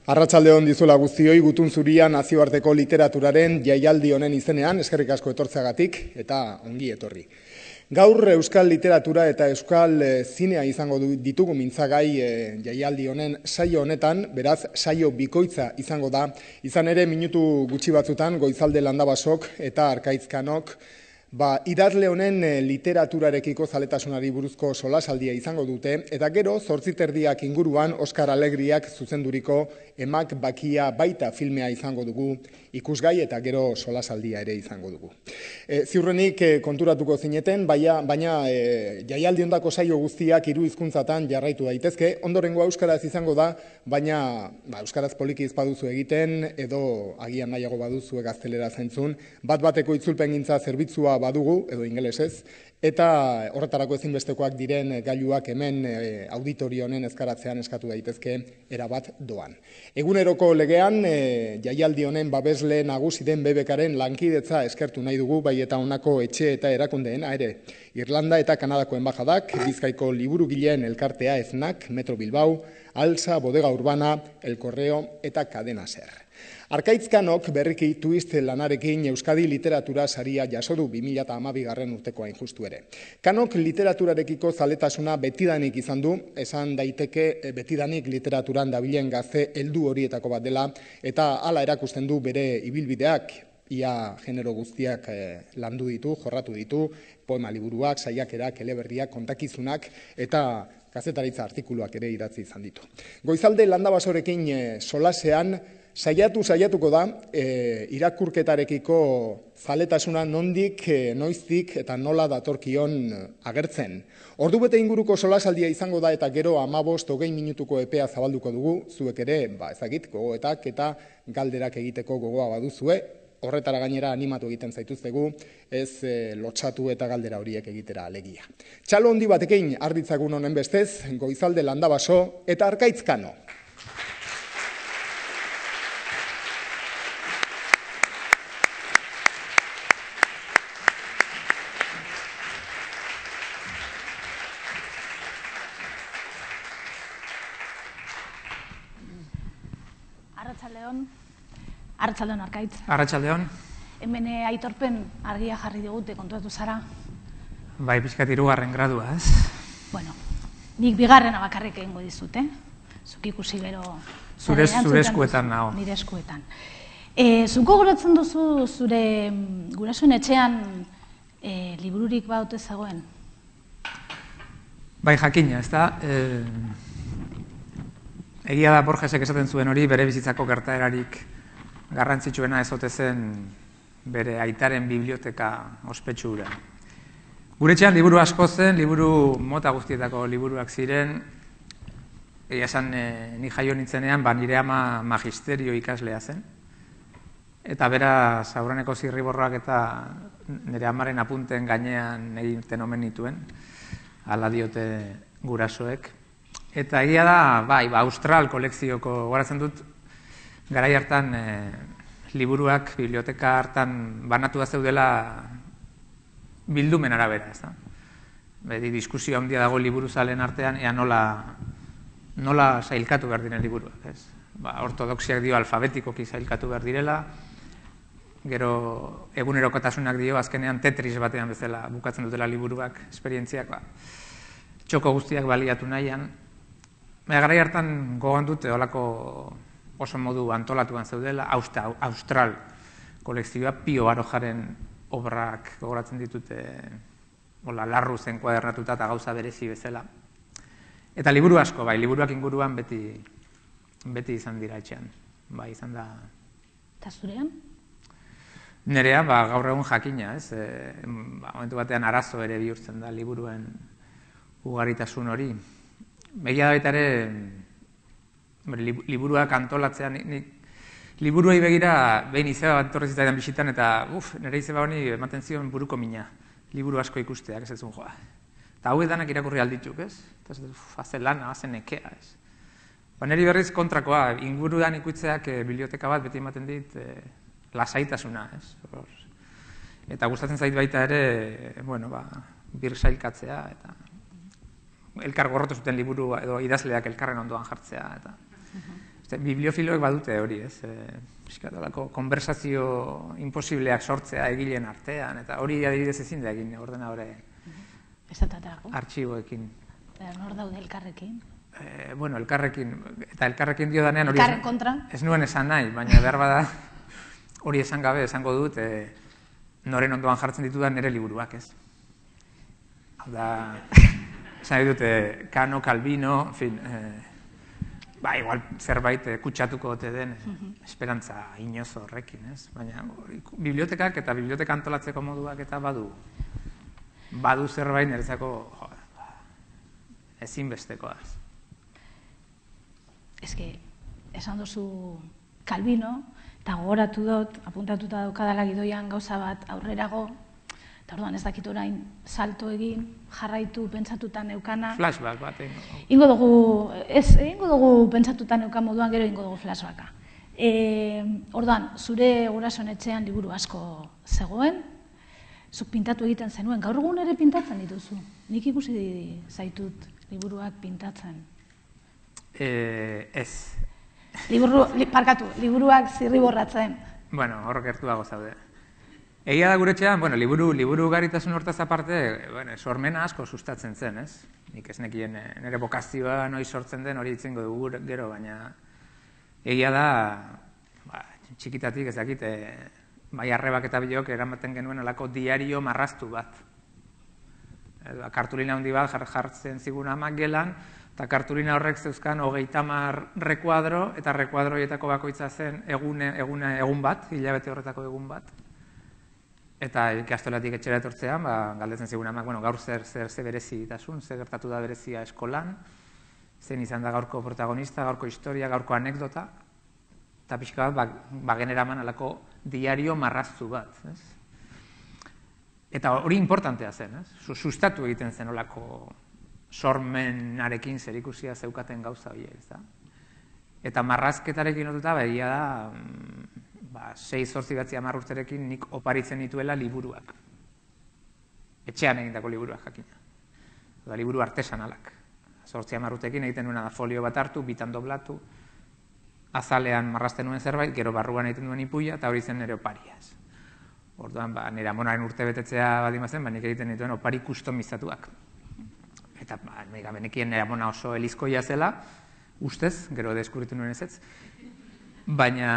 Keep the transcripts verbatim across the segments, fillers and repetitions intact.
Arratsalde on dizuela guztioi, Gutun Zuria nazioarteko literaturaren jaialdi honen izenean, eskerrik asko etortzeagatik eta ongi etorri. Gaur euskal literatura eta euskal zinea izango ditugu mintzagai jaialdi honen saio honetan, beraz saio bikoitza izango da, izan ere minutu gutxi batzutan Goizalde Landabasok eta Arkaizkanok Ba, idazle honen literaturarekiko zaletasunari buruzko solasaldia izango dute, eta gero zortziterdiak inguruan Oskar Alegriak zuzenduriko Emak Bakia baita filmea izango dugu ikusgai eta gero solasaldia ere izango dugu. E, ziurrenik e, konturatuko zineten, baina, baina e, jaialdi ondako saio guztiak hiru hizkuntzatan jarraitu daitezke, ondorengoa euskaraz izango da, baina ba, euskaraz poliki ez baduzu egiten, edo agian nahiago baduzu gaztelera zentzun, bat bateko itzulpengintza zerbitzua badugu, edo ingelesez, eta horretarako ezinbestekoak diren gailuak hemen e, auditorio honen ezkaratzean eskatu daitezke erabat doan. Eguneroko legean, e, jaialdi honen babesle nagusi den B B Karen lankidetza eskertu nahi dugu, bai eta honako etxe eta erakundeena ere. Irlanda eta Kanadako enbajadak, Bizkaiko liburugileen elkartea Eznac, Metro Bilbao, Alsa, Bodega Urbana, El Correo eta Cadena Ser. Arkaizkanok berriki twist lanarekin Euskadi literatura saria jaso du bi mila hamabigarren urteko hain justu ere. Kanok literaturarekiko zaletasuna betidanik izan du, esan daiteke betidanik literaturan dabilen gazte heldu horietako bat dela, eta hala erakusten du bere ibilbideak, ia genero guztiak landu ditu, jorratu ditu, poema liburuak, saiakerak, eleberriak, kontakizunak, eta kazetaritza artikuluak ere idatzi izan ditu. Goizalde Landabasorekin solasean, Saiatu saiatuko da, e, irakurketarekiko zaletasuna nondik, e, noiztik eta nola datorkion agertzen. Ordubete inguruko solasaldia izango da eta gero hamabost hogei minutuko epea zabalduko dugu, zuek ere, ba, ezagit, gogoetak eta galderak egiteko gogoa baduzue, horretara gainera animatu egiten zaituztegu, ez e, lotsatu eta galdera horiek egitera alegia. Txalo handi batekin arditzagun honen bestez, Goizalde Landabaso eta Arkaizkano. Arratsaldeon, Arratsaldeon Arkaitz. Arratsaldeon. Hemen aitorpen argia jarri digute, kontuatu zara? Bai, pixkat hirugarren gradua, ez? Bueno, nik bigarrena bakarrik egingo dizut, eh? Zuk ikusi gero... Zure, zure eskuetan nago. Nire eskuetan. E, zuko goratzen duzu zure gurasoen etxean e, libururik baute zegoen? Bai, jakina, ez da? E... Egia da Borgesek esaten zuen hori bere bizitzako gertaerarik garrantzitsuena ez ote zen bere aitaren biblioteka ospetsu hura. Gure etxean liburu asko zen, liburu mota guztietako liburuak ziren, egia esan e, ni jaio nintzenean, ba, nire ama magisterio ikaslea zen, eta bera Sauraneko zirriborroak eta nire amaren apunten gainean egiten omen nituen, hala diote gurasoek. Eta egia da, bai, ba, Austral kolekzioko goratzen dut, garai hartan e, liburuak, biblioteka hartan banatua zeudela bildumen arabera, ez da? Bedi, diskusio handia dago liburuzalen artean, ea nola, nola sailkatu behar diren liburuak, ez? Ba, ortodoxiak dio alfabetikoki sailkatu behar direla, gero egunerokotasunak dio, azkenean Tetris batean bezala bukatzen dutela liburuak, esperientziak, ba, txoko guztiak baliatu nahian. Baina garai hartan gogoan dute olako oso modu antolatuan zeudela, Austral kolekzioa, Pio Barojaren obrak gogoratzen ditute hola, larru zen kuadernatuta eta gauza berezi bezala. Eta liburu asko, bai, liburuak inguruan beti, beti izan dira etxean. Bai, izan da... Eta zurean? Nerea, ba, gaur egun jakina, ez? E, ba, momentu batean arazo ere bihurtzen da liburuen ugaritasun hori. Egia da baita ere, liburuak antolatzean, liburuei begira behin izeba bat torrez izan bisitan, eta uf, nire izeba honi ematen zion buruko mina, liburu asko ikusteak, ez ez zuen joa. Eta hau edanak irakurri aldituk, ez? Eta ez dut, haze lana, haze nekea, ez? Ba, niri berriz kontrakoa, inguruan ikutzeak e, biblioteka bat beti ematen dit e, lasaitasuna, ez? Eta gustatzen zait baita ere, bueno, ba, bir sailkatzea, eta... elkar gorrotu zuten liburu edo idazleak elkarren ondoan jartzea. Eta Bibliofiloek badute hori, ez? Piskatolako konversazio imposibleak sortzea egileen artean, eta hori adibidez ezin da egin ordenadore artxiboekin. Nor daude elkarrekin? Bueno, elkarrekin, eta elkarrekin dio danean hori elkarren kontra? Ez nuen esan nahi, baina behar bada hori esan gabe esango dut noren ondoan jartzen ditudan nire liburuak, ez? Hau da, esan dute Kano, Calvino, en fin, ba, igual zerbait kutsatuko ote den esperantza inozo horrekin, ez? Baina bibliotekak eta biblioteka antolatzeko moduak eta badu badu zerbait niretzako ezinbestekoaz. Ez que, esan duzu Calvino, eta gogoratu dut, apuntatuta daukadala gidoian gauza bat aurrerago, eta orduan ez dakit orain salto egin, jarraitu pentsatutan eukana. Flashback bat, ingo dugu, ez, ingo dugu pentsatutan eukan moduan, gero ingo dugu flashbacka. Orduan, zure gurasoen etxean liburu asko zegoen, zuk pintatu egiten zenuen, gaur egun ere pintatzen dituzu. Nik ikusi zaitut liburuak pintatzen. Ez. Parkatu, liburuak zirriborratzen. Bueno, hor gertuago zaude. Egia da gure etxean, bueno, liburu, liburu garitasun hortaz aparte, bueno, sormena asko sustatzen zen, ez? Nik ez nekien nire bokazioa noiz sortzen den hori itzengo dugu gero, baina egia da, ba, txikitatik ez dakit, bai arrebak eta bilok eramaten genuen olako diario marraztu bat. Kartulina handi bat jartzen zigun amak gelan, eta kartulina horrek zeuzkan hogeita hamar rekuadro, eta rekuadroietako bakoitza zen egun bat, hilabete horretako egun bat. Eta ikastolatik etxera etortzean, galdetzen zigun amak, gaur zer berezitasun, zer gertatu da berezia eskolan, zen izan da gaurko protagonista, gaurko historia, gaurko anekdota, eta pixka bat, bageneraman alako diario marraztu bat. Eta hori importantea zen, sustatu egiten zen olako sormenarekin zerikusia zeukaten gauza horiek, ez da? Eta marrazketarekin lotuta, egia da, sei zortzi batzi hamar urterekin nik oparitzen dituela liburuak. Etxean egindako liburuak jakina. Da, liburu artesanalak. Zortzi hamar urtekin egiten nuena da folio bat hartu, bitan doblatu, azalean marrazten nuen zerbait, gero barruan egiten duen ipuia, eta hori zen nire oparia. Orduan, nire amonaren urte betetzea badimazen, nik egiten dituen opari kustomizatuak. Eta benekien nire amona oso elizkoia zela, ustez, gero deskubritu nuen ezetz, baina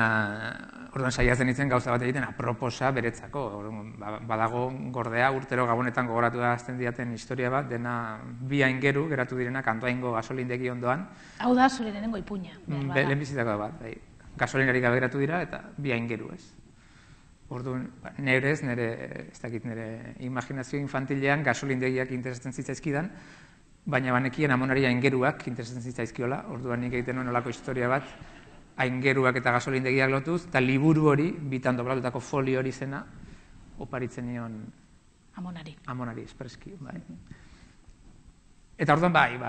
orduan saiatzen nintzen gauza bat egiten aproposa beretzako. Badago gordea urtero Gabonetan gogoratu da azten diaten historia bat, dena bi aingeru geratu direnak Andoaingo gasolindegi ondoan. Hau da zure lehenengo ipuina. Lehen bizitako bat, gasolinari gabe geratu dira eta bi aingeru, ez? Orduan, nerez, nire, ez dakit, nire imaginazio infantilean gasolindegiak interesatzen zitzaizkidan, baina banekien amonari aingeruak interesatzen zitzaizkiola, orduan nik egiten nuen olako historia bat, aingeruak eta gasolindegiak lotuz, eta liburu hori, bitan doblatutako folio hori zena, oparitzen nion... Amonari. Amonari, espreski, bai. Eta orduan, bai,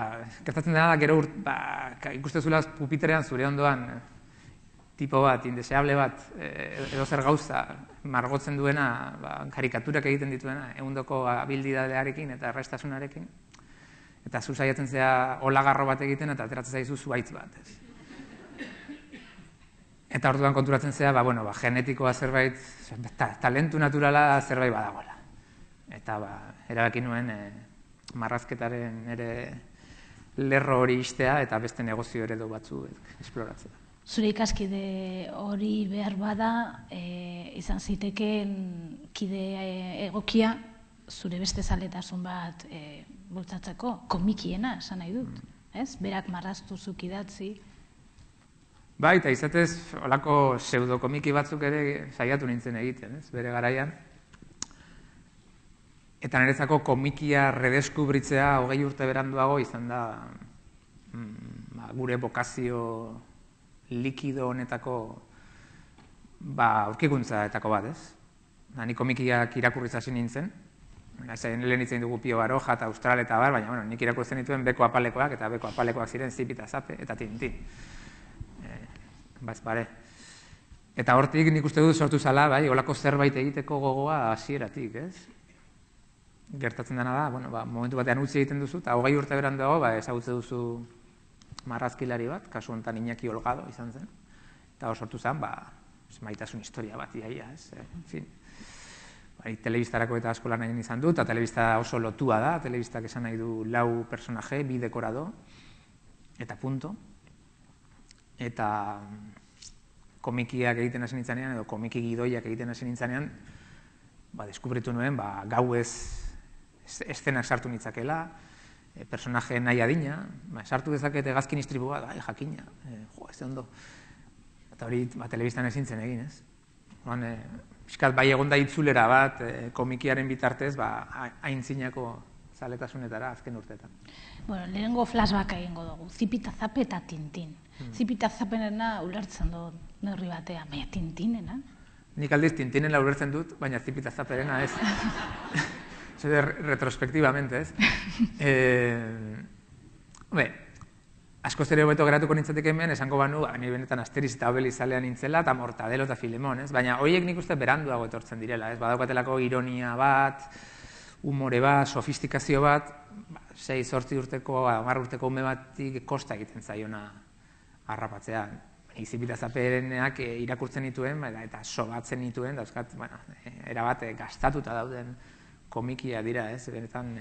gertatzen dena da, gero ikustezula pupiterean zure ondoan, tipo bat, indeseable bat, edo zer gauza, margotzen duena, karikaturak egiten dituena, egundoko abildidadearekin eta errestasunarekin, eta zu saiatzen zea olagarro bat egiten eta ateratzen zaizu zuhaitz bat. Eta orduan konturatzen zea, genetikoa zerbait, talentu naturala zerbait badagoela. Eta erabaki nuen marrazketaren ere lerro hori istea eta beste negozio eredu batzu esploratzea. Zure ikaskide hori behar bada, izan zitekeen kide egokia, zure beste zaletasun bat bultzatzeko, komikiena, esan nahi dut, ez? Berak marraztu zuk idatzi. Bai, eta izatez, olako pseudokomiki batzuk ere saiatu nintzen egiten, ez? Bere garaian. Eta niretzako komikia redeskubritzea hogei urte beranduago izan da gure bokazio likido honetako aurkikuntzatako bat, ez? Ni komikiak irakurriz hasi nintzen, lehen hitzen dugu Pio Baroja eta Austral eta bar, baina nik irakurtzen dituen beko apalekoak, eta beko apalekoak ziren Zip eta Zape eta Tintin. Baz, bare. Eta hortik nik uste dut sortu zala, bai, olako zerbait egiteko gogoa hasieratik, ez? Gertatzen dena da, bueno, momentu batean utzi egiten duzu, eta hogei urte beranduago, ezagutze duzu marrazkilari bat, kasu honetan Iñaki Olgado izan zen, eta hor sortu zen, ba, maitasun historia bat iaia, ez, en fin. Bai, telebistarako eta asko lan egin izan du, eta telebista oso lotua da, telebistak esan nahi du lau personaje, bi dekorado, eta punto. Eta komikiak egiten hasi nintzanean, edo komiki gidoiak egiten hasi nintzanean, ba, deskubritu nuen, ba, gauez eszenak sartu nitzakela, e, personaje nahi adina, ba, sartu dezaket hegazkin istripua, bai, jakina, e, jo, ez ondo. Eta hori, ba, telebistan ezin zen egin, ez? Oran, e, Piskat, bai egon da itzulera bat, e, komikiaren bitartez, ba, aintzinako zaletasunetara azken urteetan. Bueno, lehenengo flashback egingo dugu, Zipita Zape eta Tintin. Hmm. Zipita Zapenena ulertzen dut neurri batean, baina Tintinena? Nik aldiz Tintinena ulertzen dut, baina Zipita Zaperena ez. Zer retrospektibamente, ez? Eh, Hombre, asko zere hobeto geratuko nintzatek hemen, esango banu, ni benetan Asteriz eta Obelix zalean nintzela, eta Mortadelo eta Filemon, ez? Baina horiek nik uste beranduago etortzen direla, ez? Badaukatelako ironia bat, humore bat, sofistikazio bat, sei, zortzi urteko, hamar urteko ume batik kosta egiten zaiona harrapatzea. Zipita Zaperenak irakurtzen nituen, eta sobatzen nituen, dauzkat, bueno, erabat gastatuta dauden komikia dira, ez? Benetan,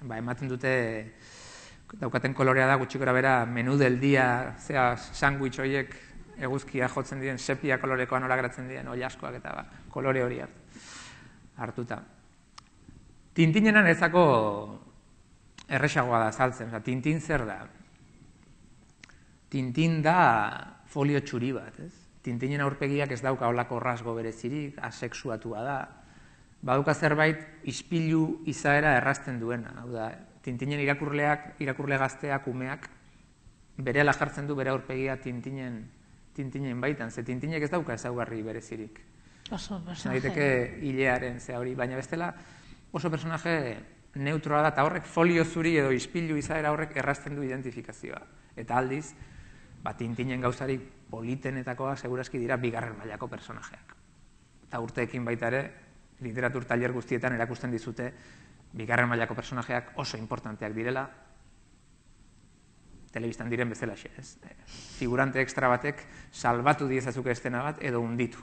ba, ematen dute, daukaten kolorea da, gutxi gora bera, menu del dia, zera, sandwich horiek eguzkia jotzen diren, sepia kolorekoa nola geratzen diren, oilaskoak eta ba, kolore hori hartuta. Tintinenan ezako erresagoa da saltzen, oza, Tintin zer da? Tintin da folio txuri bat, ez? Tintinen aurpegiak ez dauka holako rasgo berezirik, asexuatua da, baduka zerbait ispilu izaera errazten duena, hau da, Tintinen irakurleak, irakurle gazteak, umeak, berehala jartzen du bere aurpegia Tintinen, Tintinen baitan, ze Tintinek ez dauka ezaugarri berezirik. Oso personaje. Daiteke hilearen, ze hori, baina bestela oso personaje neutroa da, eta horrek folio zuri edo ispilu izaera horrek errazten du identifikazioa. Eta aldiz, ba, Tintinen gauzari politenetakoak segurazki dira bigarren mailako personajeak. Eta urteekin baita ere, literatur tailer guztietan erakusten dizute bigarren mailako personajeak oso importanteak direla, telebistan diren bezalaxe, ez? Figurante extra batek salbatu diezazuke estena bat edo hunditu.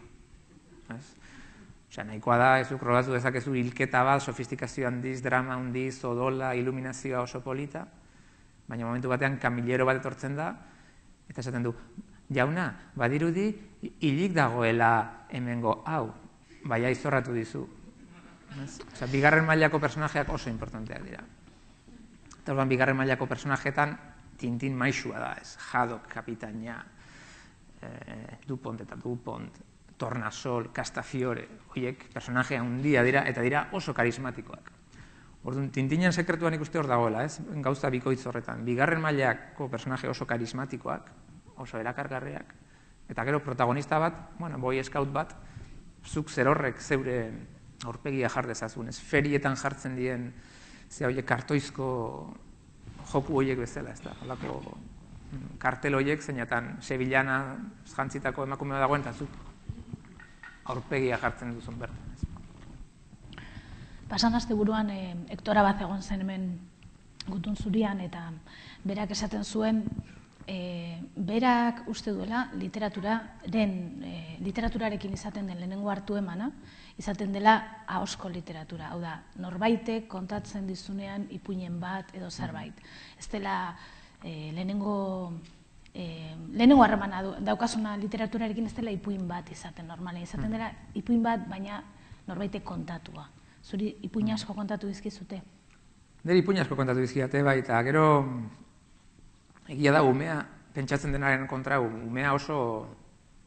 Osea, nahikoa da, ezuk rodatu dezakezu hilketa bat, sofistikazio handiz, drama handiz, odola, iluminazioa oso polita, baina momentu batean kamilero bat etortzen da, eta esaten du, jauna, badirudi, hilik dagoela hemengo, hau, baina izorratu dizu. Osa, bigarren mailako personajeak oso importanteak dira. Eta orduan, bigarren mailako personajeetan Tintin maixua da, ez? Haddock, Kapitaina, eh, Dupont eta Dupont, Tornasol, Castafiore, horiek personaje handia dira, eta dira oso karismatikoak. Orduan, Tintinen sekretuan ikuste hor dagoela, ez? Gauza bikoitz horretan. Bigarren mailako personaje oso karismatikoak, oso erakargarriak, eta gero protagonista bat, bueno, boy scout bat, zuk zer horrek zeure aurpegia jar dezazun, ez ferietan jartzen dien, ze horiek kartoizko joku horiek bezala, ez da, holako kartel horiek, zeinatan Sevillana jantzitako emakumea dagoen, eta zuk aurpegia jartzen duzun bertan. Pasan azte buruan, e, Hektora bat egon zen hemen Gutun Zurian, eta berak esaten zuen, e, berak uste duela literaturaren, e, literaturarekin izaten den lehenengo hartu emana, izaten dela ahozko literatura. Hau da, norbaitek kontatzen dizunean ipuinen bat edo zerbait. Ez dela e, lehenengo, e, lehenengo harremana daukasuna literaturarekin ez dela ipuin bat izaten normalen. Izaten dela ipuin bat, baina norbaitek kontatua. Zuri ipuin asko kontatu dizkizute? Nire ipuin asko kontatu dizkiate, bai, eta gero egia da, umea, pentsatzen denaren kontra, umea oso,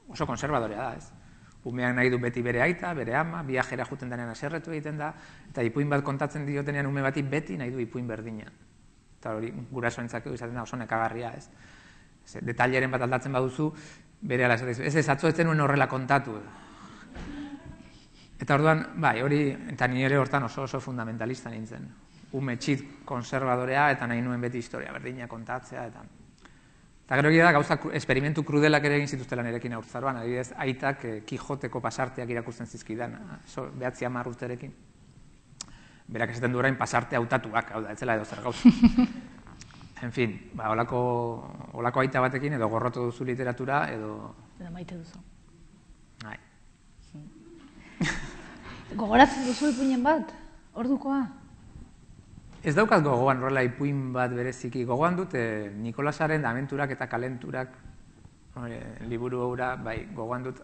oso konservadorea da, ez? Umeak nahi du beti bere aita, bere ama, viajera juten denean aserretu egiten da, eta ipuin bat kontatzen diotenean ume bati beti nahi du ipuin berdina. Eta hori gurasoentzat izaten da oso nekagarria, ez? Detaileren bat aldatzen baduzu, bere ala esaten, ez ez, atzo ez zenuen horrela kontatu. Eta orduan, bai, hori, eta ni ere hortan oso oso fundamentalista nintzen. Ume txit konservadorea, eta nahi nuen beti historia berdina kontatzea, eta... Eta gero egia da, gauza esperimentu krudelak ere egin zituztela nirekin haurtzaroan, adibidez, aitak Kijoteko pasarteak irakurtzen zizkidan, behatzi hamar urterekin. Berak esaten du orain pasarte hautatuak, hau da, etzela edo zer gauza. En fin, ba, olako, olako aita batekin edo gorrotu duzu literatura edo... Edo maite duzu. Bai. Gogoratzen duzu ipuinen bat, ordukoa? Ez daukat gogoan horrela ipuin bat bereziki. Gogoan dut eh, Nikolasaren Abenturak eta Kalenturak eh, liburu hura, bai, gogoan dut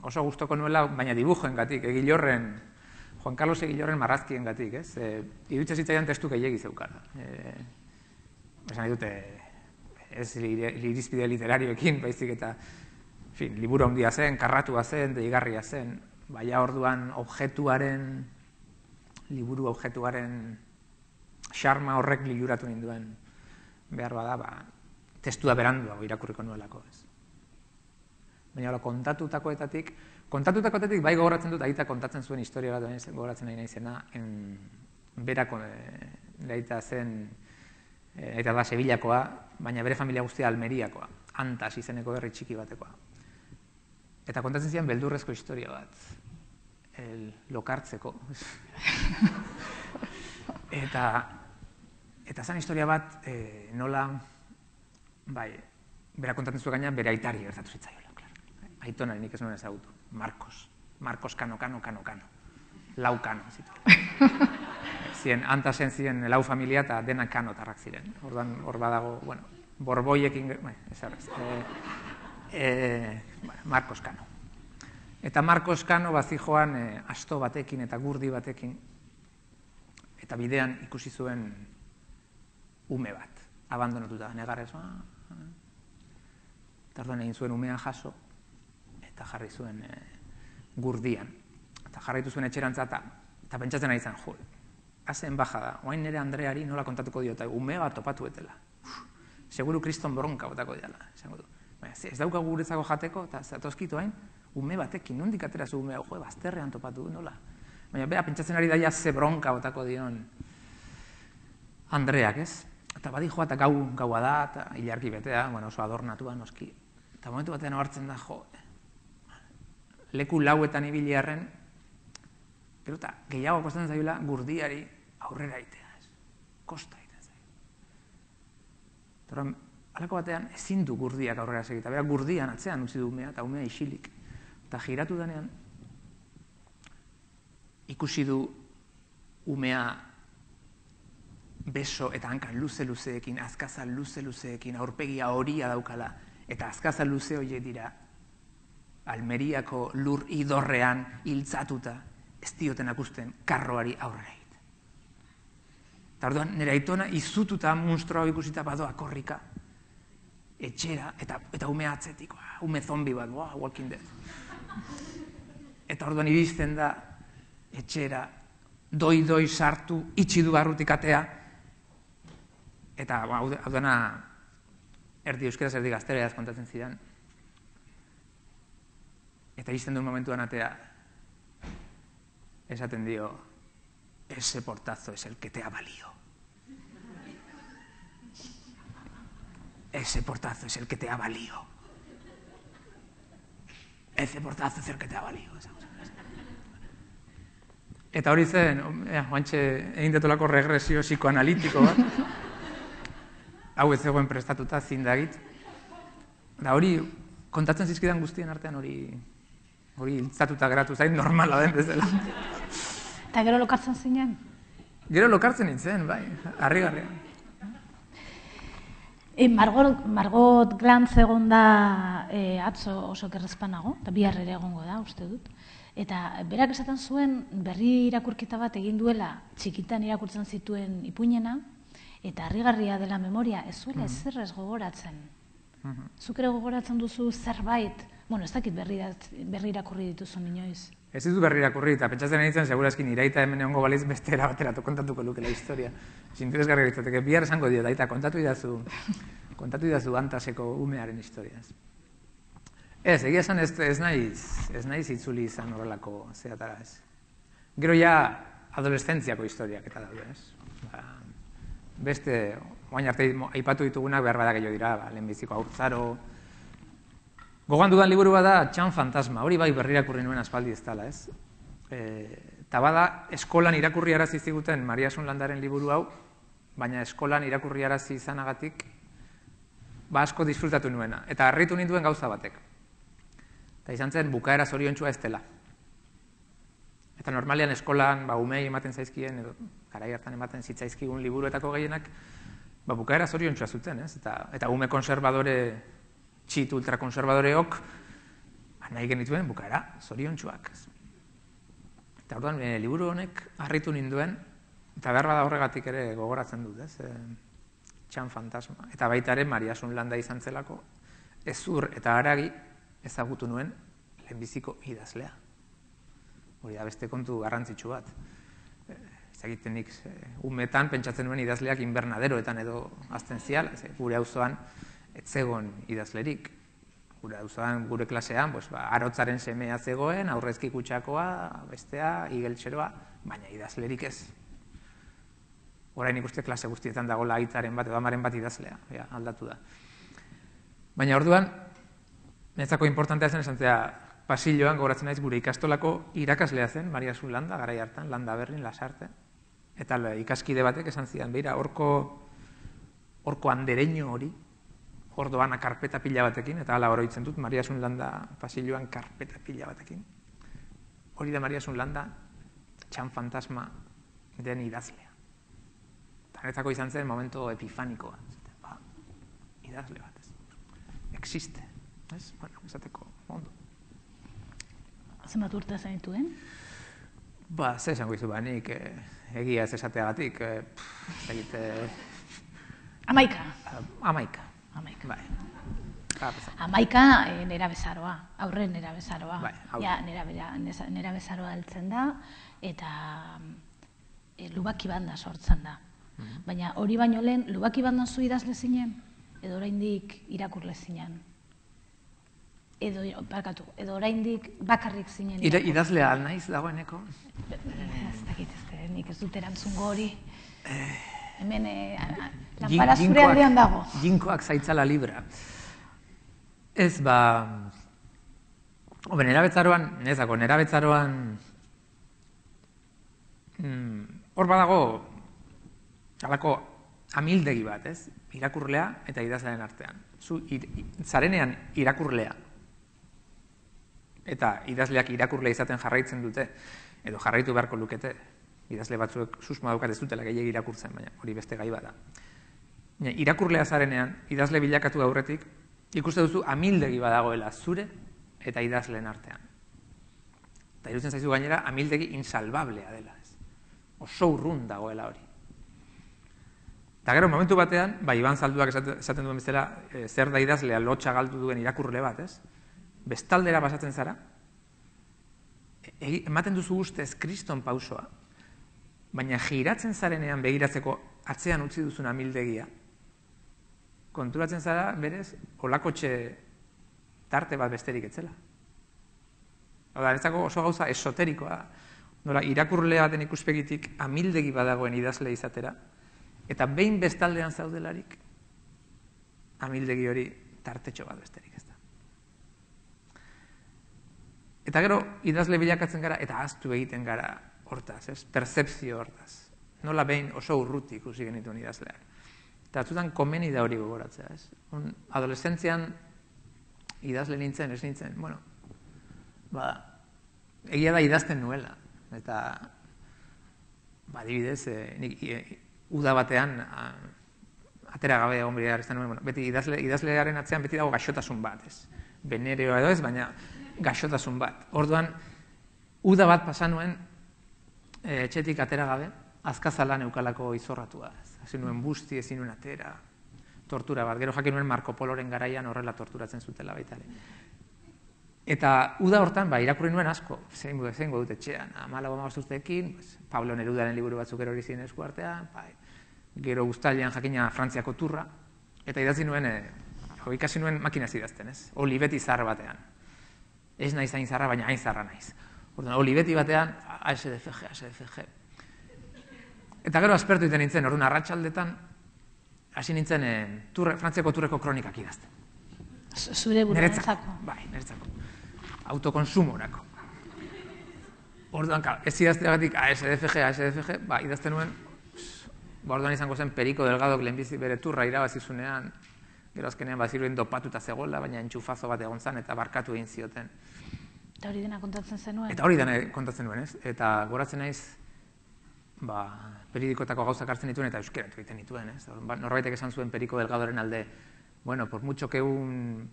oso gustoko nuela, baina dibujoengatik, Egilorren, Juan Carlos Egilorren marrazkiengatik, ez? Eh, iruditzen zitzaidan testu gehiegi zeukala. Eh, esan nahi dute, ez irizpide literarioekin, baizik eta, en fin, liburu handia zen, karratua zen, deigarria zen, baina orduan objektuaren, liburu objektuaren xarma horrek liluratu ninduen behar bada, ba, testua beranduago irakurriko nuelako, ez. Baina hola, kontatutakoetatik, kontatutakoetatik bai gogoratzen dut, aita kontatzen zuen historia bat, gogoratzen nahi naizena, berako aita zen, aita da Sevillakoa, baina bere familia guztia Almeriakoa, Antas izeneko herri txiki batekoa. Eta kontatzen zian beldurrezko historia bat, el lokartzeko. Eta, eta zan historia bat, e, nola, bai, bera kontatzen zuen gaina, bere aitari gertatu zitzaiola. Aitona nik ez nuen ezagutu, Marcos, Marcos Kano, Kano, Kano, Kano, lau Kano zitu. Zien, Antasen ziren lau familia eta dena Kanotarrak ziren. Orduan, hor badago, bueno, borboiekin, ez arrez, e, e, Marcos Kano. Eta Marcos Kano bazijoan e, asto batekin eta gurdi batekin, eta bidean ikusi zuen ume bat, abandonatuta, negarrez, ah, eta orduan egin zuen umea jaso, eta jarri zuen e, gurdian. Eta jarraitu zuen etxerantza eta, eta pentsatzen ari zen, jo, hazen baja da, oain nire Andreari nola kontatuko dio, eta ume bat topatu etela. Uf, seguru kriston bronka botako diala, esango du. Baina, ez dauka guretzako jateko, eta zatozkitu hain, ume batekin, nondik atera zu umea, jo, bazterrean topatu du, nola. Baina, bea, pentsatzen ari daia ze bronka botako dion Andreak, ez? Eta badi joa, eta gau, gaua da, eta ilarki betea, bueno, oso adornatua, noski. Eta momentu batean hartzen da, jo, leku lauetan ibiliarren, pero eta gehiago kostatzen zaiola gurdiari aurrera itea, ez? Kosta egiten zaio. Eta halako batean ezin du gurdiak aurrera segita, bera gurdian atzean utzi du umea, eta umea isilik. Eta giratu denean, ikusi du umea beso eta hankan luze-luzeekin, azkazal luze-luzeekin, aurpegia horia daukala, eta azkazal luze horiek dira, Almeriako lur idorrean hiltzatuta, ez dioten akusten karroari aurrera egiten. Eta orduan, nire aitona izututa monstrua ikusita badoa korrika, etxera, eta, eta ume atzetik, ume zombi bat, wow, Walking Dead. Eta orduan iristen da, etxera, doi-doi sartu, itxi du barrutik atea, eta hau dena, erdi euskeraz, erdi gaztereaz kontatzen zidan, eta izten duen momentuan atea, esaten dio, ese portazo es el que te ha valido. Ese portazo es el que te ha valido. Ese portazo es el que te ha valido. Eta hori zen, oantxe egin detolako regresio psikoanalitiko bat, hau ez zegoen prestatuta zindagit. Da hori, kontatzen zizkidan guztien artean hori, hori hiltzatuta geratu zain, normala den bezala. Eta gero lokartzen zinen? Gero lokartzen nintzen, bai, harrigarria. E, Margot, Margot Glantz egon da e, atzo oso kerrezpanago, eta bihar ere egongo da, uste dut. Eta berak esaten zuen berri irakurketa bat egin duela txikitan irakurtzen zituen ipuinena, eta harrigarria dela memoria, ez zuela mm -hmm. ezer ez gogoratzen. Mm -hmm. Zuk ere gogoratzen duzu zerbait, bueno, ez dakit berri, berri irakurri dituzu inoiz. Ez ditu berri irakurri, eta pentsatzen nintzen, segurazkin iraita hemen egongo baliz beste erabateratu kontatuko lukela historia. Interesgarria ditzateke, bihar esango dio, daita, kontatu idazu, kontatu idazu Antaseko umearen historiaz. Ez, egia esan ez, ez naiz, ez naiz itzuli izan horrelako zeatara ez. Gero ja adolescentziako historiak eta daude ez. Ba, beste, oain arte aipatu ditugunak behar badak gehiago dira, ba, lehenbiziko haurtzaro. Gogoan dudan liburu bada Txan Fantasma, hori bai berri irakurri nuen aspaldi ez dela ez. Eta bada eskolan irakurri arazi ziguten Maria Sunlandaren liburu hau, baina eskolan irakurriarazi izanagatik, ba asko disfrutatu nuena, eta harritu ninduen gauza batek. Eta izan zen, bukaera zoriontsua ez dela. Eta normalian eskolan, ba, umei ematen zaizkien, edo garai hartan ematen zitzaizkigun liburuetako gehienak, ba, bukaera zoriontsua zuten, ez? Eta, eta ume konservadore, txit ultrakonservadoreok, ba, nahi genituen bukaera zoriontsuak. Eta orduan, e, liburu honek harritu ninduen, eta behar bada horregatik ere gogoratzen dut, ez? E, Txan fantasma. Eta baita ere, Mariasun Landa izan zelako, ezur eta haragi ezagutu nuen lehenbiziko idazlea. Hori da beste kontu garrantzitsu bat. Ezagiten nik, umetan pentsatzen nuen idazleak inbernaderoetan edo azten zial, gure auzoan etzegon idazlerik. Gure auzoan, gure klasean, pues, ba, arotzaren semea zegoen, aurrezki kutxakoa, bestea, igeltxeroa, baina idazlerik ez. Orain ikuste klase guztietan dagoela aitzaren bat edo amaren bat idazlea, ja, aldatu da. Baina orduan, netzako importantea zen esan zera, pasilloan gogoratzen naiz gure ikastolako irakaslea zen, Mariasun Landa, garai hartan, Landa Berrin, Lasarte. Eta ikaskide batek esan zidan, beira, horko, horko andereño hori, hor doana karpeta pila batekin, eta hala oroitzen dut, Mariasun Landa pasilloan karpeta pila batekin. Hori da Mariasun Landa, Txan fantasma den idazlea. Netzako izan zen momento epifanikoa. Ba, idazle bat, ez. Existe. Ez? Bueno, esateko ondo. Zenbat urte zenituen? Ba, ze esango izu ba, nik egia ez esateagatik. Egite... Amaika. Amaika. Amaika. Bai. Amaika nera bezaroa, aurre nera bezaroa. Bai, ja, nera bezaroa heltzen da, eta lubaki banda sortzen da. Baina hori baino lehen, lubaki bandan zu idazle zinen, edo oraindik irakurle zinen. Edo, barkatu, edo oraindik bakarrik zinen irakurle. Idazlea naiz dagoeneko? Ez dakit, ez nik ez dut erantzungo hori. Hemen, lanpara zure aldean dago. Jinkoak zaitzala libra. Ez, ba... Obe, nera betzaroan, nezako, nera betzaroan... Hor badago... Halako amildegi bat, ez? Irakurlea eta idazlearen artean. Zu zarenean irakurlea eta idazleak irakurlea izaten jarraitzen dute, edo jarraitu beharko lukete, idazle batzuek susmoa daukat ez dutela gehiegi irakurtzen, baina hori beste gai bada. Irakurlea zarenean, idazle bilakatu aurretik, ikuste duzu amildegi badagoela zure eta idazleen artean. Eta irutzen zaizu gainera, amildegi insalbablea dela, ez? Oso urrun dagoela hori. Eta gero, momentu batean, ba, Iban Zalduak esaten duen bezala, e, zer da idazlea lotxa galdu duen irakurle bat, ez? Bestaldera pasatzen zara, e, ematen duzu ustez kriston pausoa, baina giratzen zarenean begiratzeko atzean utzi duzun amildegia, konturatzen zara, berez, olakotxe tarte bat besterik etzela. Oda, netzako oso gauza esoterikoa, nola, irakurle baten ikuspegitik amildegi badagoen idazle izatera, eta behin bestaldean zaudelarik, amildegi hori tartetxo bat besterik ez da. Eta gero, idazle bilakatzen gara, eta ahaztu egiten gara hortaz, ez? Perzepzio hortaz. Nola behin oso urruti ikusi genituen idazleak. Eta atzutan komeni da hori gogoratzea, ez? Adolescentzian idazle nintzen, ez nintzen, bueno, ba, egia da idazten nuela, eta, ba, adibidez, nik, uda batean, atera gabe egon bidea hartzen nuen, bueno, beti idazle, idazlearen atzean beti dago gaixotasun bat, ez? Benereoa edo ez, baina gaixotasun bat. Orduan, uda bat pasa nuen, e, etxetik atera gabe, azkazalan eukalako izorratua. Hasi nuen busti, ezin nuen atera, tortura bat. Gero jakin nuen Marco Poloren garaian horrela torturatzen zutela baita ere. Eta uda hortan, ba, irakurri nuen asko, zein dut etxean, amalago amabosturteekin, pues, Pablo Nerudaren liburu batzuk erori ziren esku artean, bai, gero guztalian jakina Frantziako turra, eta idatzi nuen, e, ikasi nuen makinaz idazten, ez? Olibeti zahar batean. Ez naiz hain zarra, baina hain zarra naiz. Orduan, olibeti batean, A S D F G, A S D F G. Eta gero aspertu iten nintzen, orduan, arratsaldetan, hasi nintzen, e, turre, Frantziako turreko kronikak idazten. Zure buruarentzako. Bai, niretzako. Autokonsumorako. Orduan, ez idazteagatik A S D F G, A S D F G, ba, idazten nuen ba orduan izango zen Perico Delgadok lehenbizi bere turra irabazizunean, gero azkenean baziruen dopatuta zegoela, baina entxufazo bat egon zen eta barkatu egin zioten. Eta hori dena kontatzen zenuen? Eta hori dena kontatzen nuen, ez? Eta goratzen naiz, ba, periodikotako gauzak hartzen dituen eta euskerat egiten dituen, ez? Norbaitek esan zuen Perico Delgadoren alde, bueno, por mucho que un,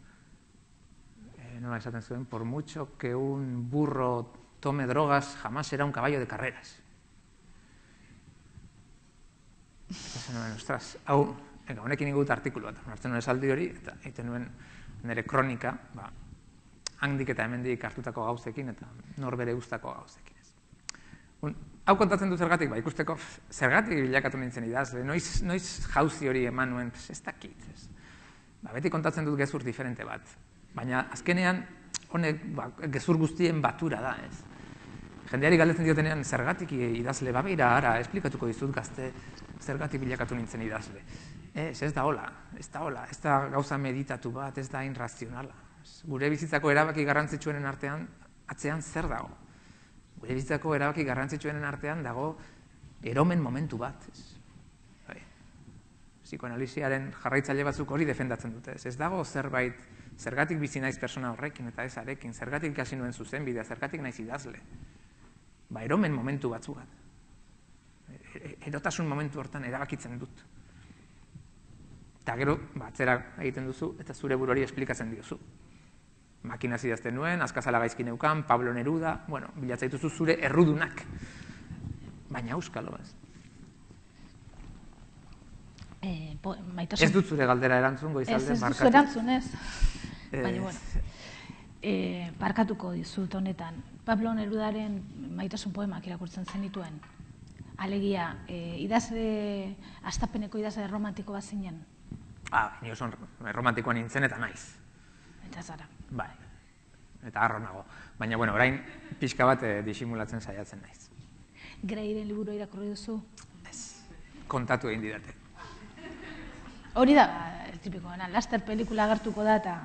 eh, nola esaten zuen, por mucho que un burro tome drogas, jamás será un caballo de carreras. Esan nuen, ostras, hau, venga, honekin ingut artikulu bat, hartzen nuen esaldi hori, eta egiten nuen nire kronika, ba, handik eta hemendik hartutako gauzekin, eta norbere guztako gauzekin. Un, hau kontatzen du zergatik, ba, ikusteko, zergatik bilakatu nintzen idazle, noiz, noiz jauzi hori eman nuen, ez dakit, ez. Ba, beti kontatzen dut gezur diferente bat, baina azkenean, honek, ba, gezur guztien batura da, ez. Jendeari galdetzen diotenean, zergatik idazle, ba, beira, ara, esplikatuko dizut gazte, zergatik bilakatu nintzen idazle. Ez, ez da hola, ez da hola, ez da gauza meditatu bat, ez da irrazionala. Gure bizitzako erabaki garrantzitsuenen artean, atzean zer dago? Gure bizitzako erabaki garrantzitsuenen artean dago eromen momentu bat. Bai. Psikoanalisiaren jarraitzaile batzuk hori defendatzen dute. Ez dago zerbait, zergatik bizi naiz persona horrekin eta ez arekin, zergatik ikasi nuen zuzenbidea, zergatik naiz idazle. Ba, eromen momentu batzu bat. Erotasun momentu hortan erabakitzen dut. Eta gero, atzera egiten duzu, eta zure buruari esplikatzen diozu. Makinaz idazten nuen, Azkazala gaizki neukan, Pablo Neruda, bueno, bilatza dituzu zure errudunak. Baina euskalo, ez? Eh, po, maitasun... Ez dut zure galdera erantzun, goizalde, markatu. Ez, ez duzu erantzun, ez. Baina, bueno, eh, parkatuko dizut honetan. Pablo Nerudaren maitasun poemak irakurtzen zenituen. Alegia, eh, idazle, astapeneko idazle romantiko bat zinen? Ah, ni oso romantikoa nintzen eta naiz. Eta zara. Bai, eta harro nago. Baina, bueno, orain pixka bat eh, disimulatzen saiatzen naiz. Greiren liburu irakurri duzu? Ez, kontatu egin didate. Hori da, tipikoena, laster pelikula agertuko da eta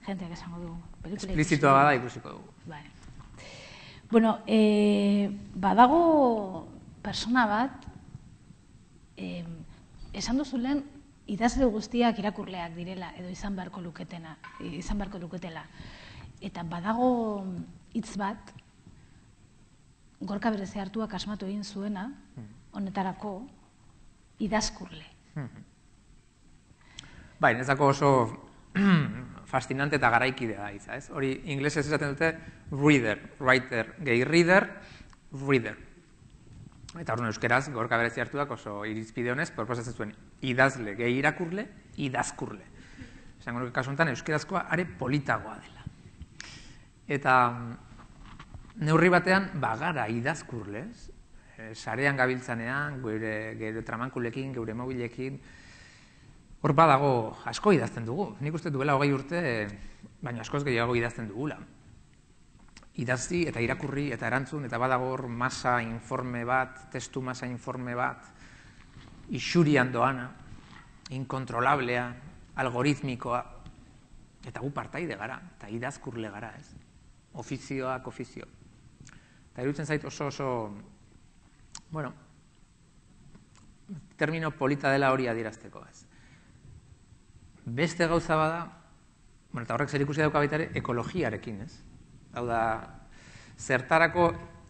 jenteak esango dugu. Esplizitoa bada ikusiko dugu. Vale. Bueno, eh, badago persona bat, eh, esan duzu lehen, idazle guztiak irakurleak direla, edo izan beharko luketena, izan beharko luketela. Eta badago hitz bat, Gorka Bereze hartuak asmatu egin zuena, honetarako, idazkurle. Bai, nezako oso fascinante eta garaikidea da hitza, ez? Hori inglesez esaten dute reader, writer, gehi reader, reader. Eta orduan euskeraz, Gorka Bereze hartuak oso irizpide honez, proposatzen zuen idazle, gehi irakurle, idazkurle. Esango nuke kasu honetan, euskerazkoa are politagoa dela. Eta neurri batean, bagara idazkurlez, sarean gabiltzanean, geure tramankulekin, geure mobilekin, hor badago asko idazten dugu. Nik uste duela hogei urte, baina askoz gehiago idazten dugula. Idazti eta irakurri eta erantzun, eta badago hor masa informe bat, testu masa informe bat, isurian doana, inkontrolablea, algoritmikoa, eta gu partaide gara, eta idazkurle gara, ez? Ofizioak ofizio. Eta iruditzen zait oso oso, bueno, termino polita dela hori adierazteko, ez? Beste gauza bada, bueno, eta horrek zer ikusi dauka baita ere, ekologiarekin, ez? Hau da, zertarako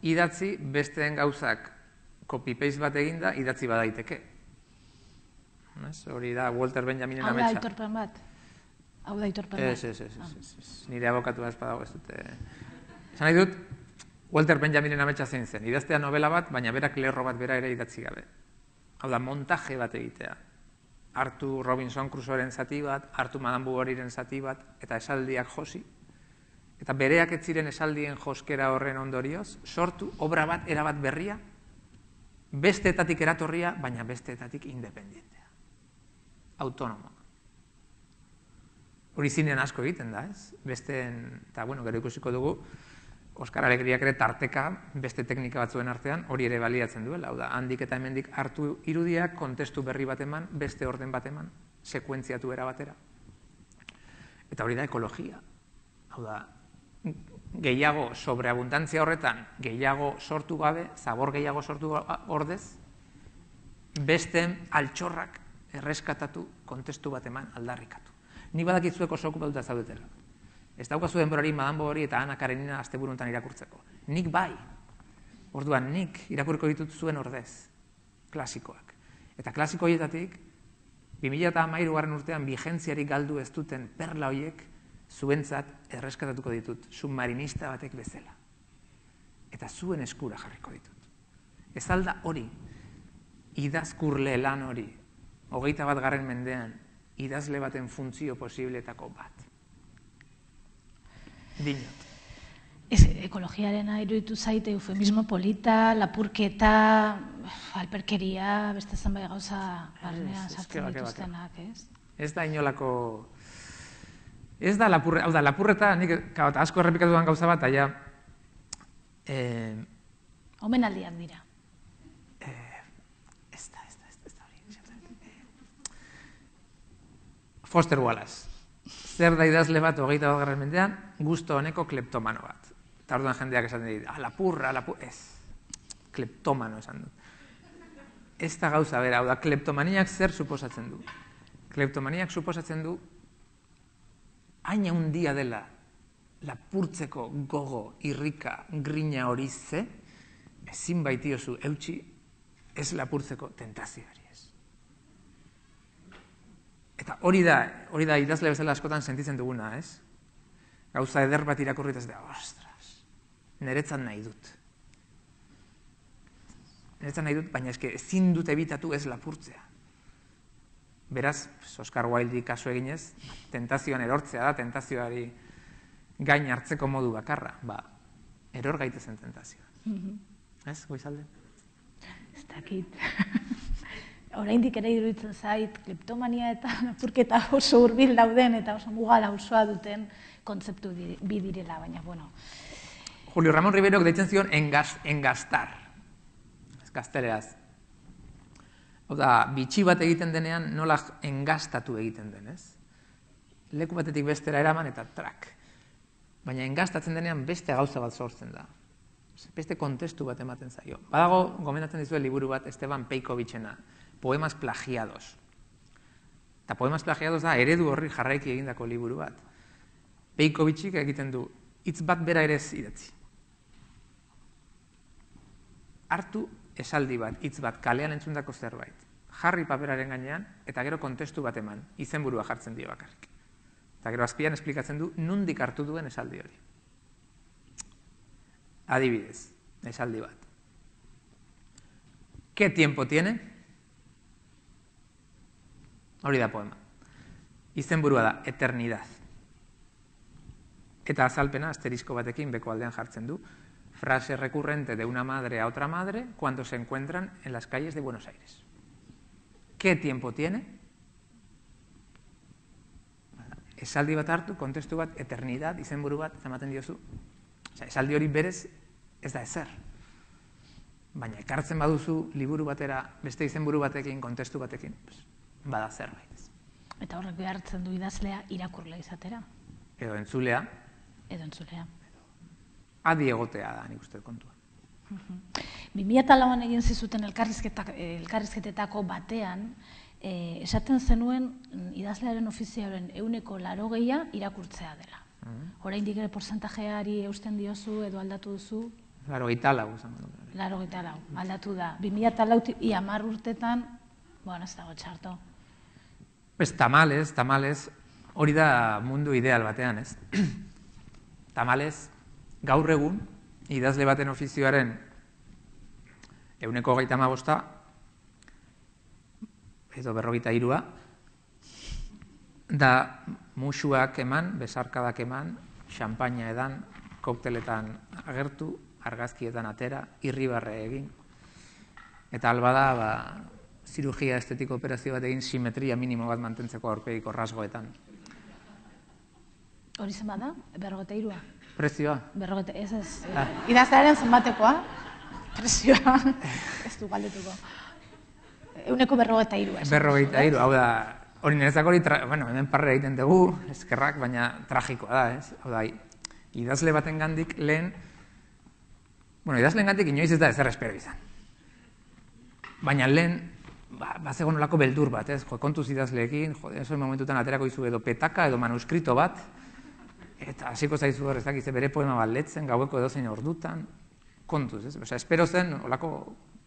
idatzi besteen gauzak copy-paste bat eginda idatzi badaiteke. Hori da Walter Benjaminen ametsa. Hau da aitorpen bat? Hau da aitorpen bat? Ez, ez, ez. Nire abokatu ez badago ez dute. Esan nahi dut, Walter Benjaminen ametsa zein zen. Idaztea novela bat, baina berak lerro bat bera ere idatzi gabe. Hau da, montaje bat egitea. Hartu Robinson Crusoeren zati bat, hartu Madame Bovaryren zati bat, eta esaldiak josi. Eta bereak ez ziren esaldien joskera horren ondorioz, sortu obra bat, erabat berria, besteetatik eratorria, baina besteetatik independentea. Autonomoa. Hori zinean asko egiten da, ez? Besteen, eta bueno, gero ikusiko dugu, Oskar Alegriak ere tarteka, beste teknika batzuen artean, hori ere baliatzen duela. Hau da, handik eta hemendik hartu irudiak, kontestu berri bat eman, beste orden bat eman, sekuentziatu era batera. Eta hori da ekologia. Hau da, gehiago sobreabundantzia horretan, gehiago sortu gabe, zabor gehiago sortu ordez, besteen altxorrak erreskatatu, kontestu bat eman aldarrikatu. Ni badakizuek oso okupatuta zaudetela. Ez daukazu denborari Madame Bovary eta Ana Karenina asteburuntan irakurtzeko. Nik bai. Orduan, nik irakurriko ditut zuen ordez, klasikoak. Eta klasiko horietatik, bi mila hamairugarren urtean vigentziarik galdu ez duten perla horiek zuentzat erreskatatuko ditut, submarinista batek bezala. Eta zuen eskura jarriko ditut. Ez alda hori, idazkurle lan hori, hogeita bat garren mendean, idazle baten funtzio posibleetako bat. Dinot. Ez, ekologiaren iruditu zaite eufemismo polita, lapurketa, alperkeria, beste zenbait gauza barnean sartzen dituztenak, ez? Ez da inolako... Ez da lapurreta, hau da, lapurreta, nik asko errepikatu duan gauza bat, aia... Omenaldiak dira. Ez da, ez da, ez da hori. Foster Wallace. Zer da idazle bat hogeita bat garren mendean, gusto honeko kleptomano bat. Eta orduan jendeak esaten dit, ah, lapurra, lapurra, ez. Kleptomano esan dut. Ez da gauza bera, hau da, kleptomaniak zer suposatzen du? Kleptomaniak suposatzen du, hain handia dela lapurtzeko gogo, irrika, grina hori ze, ezin baitiozu eutxi, ez lapurtzeko tentazioari ez. Eta hori da, hori da idazle bezala askotan sentitzen duguna, ez? Gauza eder bat irakurrit ez da, ostras, niretzat nahi dut. Niretzat nahi dut, baina eske ezin dut ebitatu ez lapurtzea. Beraz, Oscar Wilde kasu eginez, tentazioan erortzea da, tentazioari gain hartzeko modu bakarra. Ba, eror gaitezen tentazioa. Ez, Goizalde? Ez dakit. Oraindik ere iruditzen zait, kleptomania eta lapurketa oso hurbil dauden eta oso mugala osoa duten kontzeptu bi direla, baina, bueno. Julio Ramón Riverok deitzen zion engastar. Ez gazteleraz. Hau da, bitxi bat egiten denean nola engastatu egiten den, ez? Leku batetik bestera eraman eta trak. Baina engastatzen denean beste gauza bat sortzen da. Beste kontestu bat ematen zaio. Badago, gomendatzen dizue liburu bat Esteban Peikovichena, Poemas plagiados. Eta Poemas plagiados da eredu horri jarraiki egindako liburu bat. Peikovichik egiten du, hitz bat bera ere ez idatzi. Hartu esaldi bat, hitz bat, kalean entzundako zerbait. Jarri paperaren gainean, eta gero kontestu bat eman, izenburua jartzen dio bakarrik. Eta gero azpian esplikatzen du, nondik hartu duen esaldi hori. Adibidez, esaldi bat. ¿Qué tiempo tiene? Hori da poema. Izenburua da, eternidad. Eta azalpena, asterisko batekin beko aldean jartzen du, frase recurrente de una madre a otra madre cuando se encuentran en las calles de Buenos Aires. ¿Qué tiempo tiene? Esaldi bat hartu, kontestu bat, eternidad, izenburu bat, ematen diozu. Osa, esaldi hori berez ez da ezer. Baina ekartzen baduzu liburu batera, beste izenburu batekin, kontestu batekin, bada zerbait. Eta horrek behartzen du idazlea irakurle izatera. Edo entzulea. Edo entzulea. Adi egotea da, nik uste kontua. bi mila lauan egin zizuten elkarrizketetako batean, esaten zenuen idazlearen ofizioaren ehuneko laurogeia irakurtzea dela. Oraindik ere portzentajeari eusten diozu edo aldatu duzu? Laurogeita lau. Laurogeita lau, aldatu da. bi mila lautik hamar urtetan, bueno, ez dago txarto. Ez, tamalez, tamalez, hori da mundu ideal batean, ez? Tamalez, gaur egun, idazle baten ofizioaren ehuneko hogeita hamabosta, edo berrogeita hirua, da musuak eman, besarkadak eman, xampaina edan, kokteletan agertu, argazkietan atera, irribarre egin, eta albada, ba, zirugia estetiko operazio bat egin simetria minimo bat mantentzeko aurpegiko rasgoetan. Hori zen bada? Berrogeita hirua? Prezioa? Berrogeita, ez ez. Idazlearen zenbatekoa? Prezioa? Ez du galdetuko. Euneko berrogeita hirua. Berrogeita hiru, hau da, hori niretzako hori, bueno, hemen parre egiten dugu, eskerrak, baina tragikoa da, ez? Hau da, idazle baten gandik lehen, bueno, idazleen gandik inoiz ez da ezer espero izan. Baina lehen, bazegon nolako beldur bat, ez, jo, kontuz idazleekin, jo, esoen momentutan aterako izu edo petaka edo manuskrito bat, eta hasiko zaizu hor, ez dakize bere poema bat letzen, gaueko edozein ordutan, kontuz, ez, osea, espero zen, olako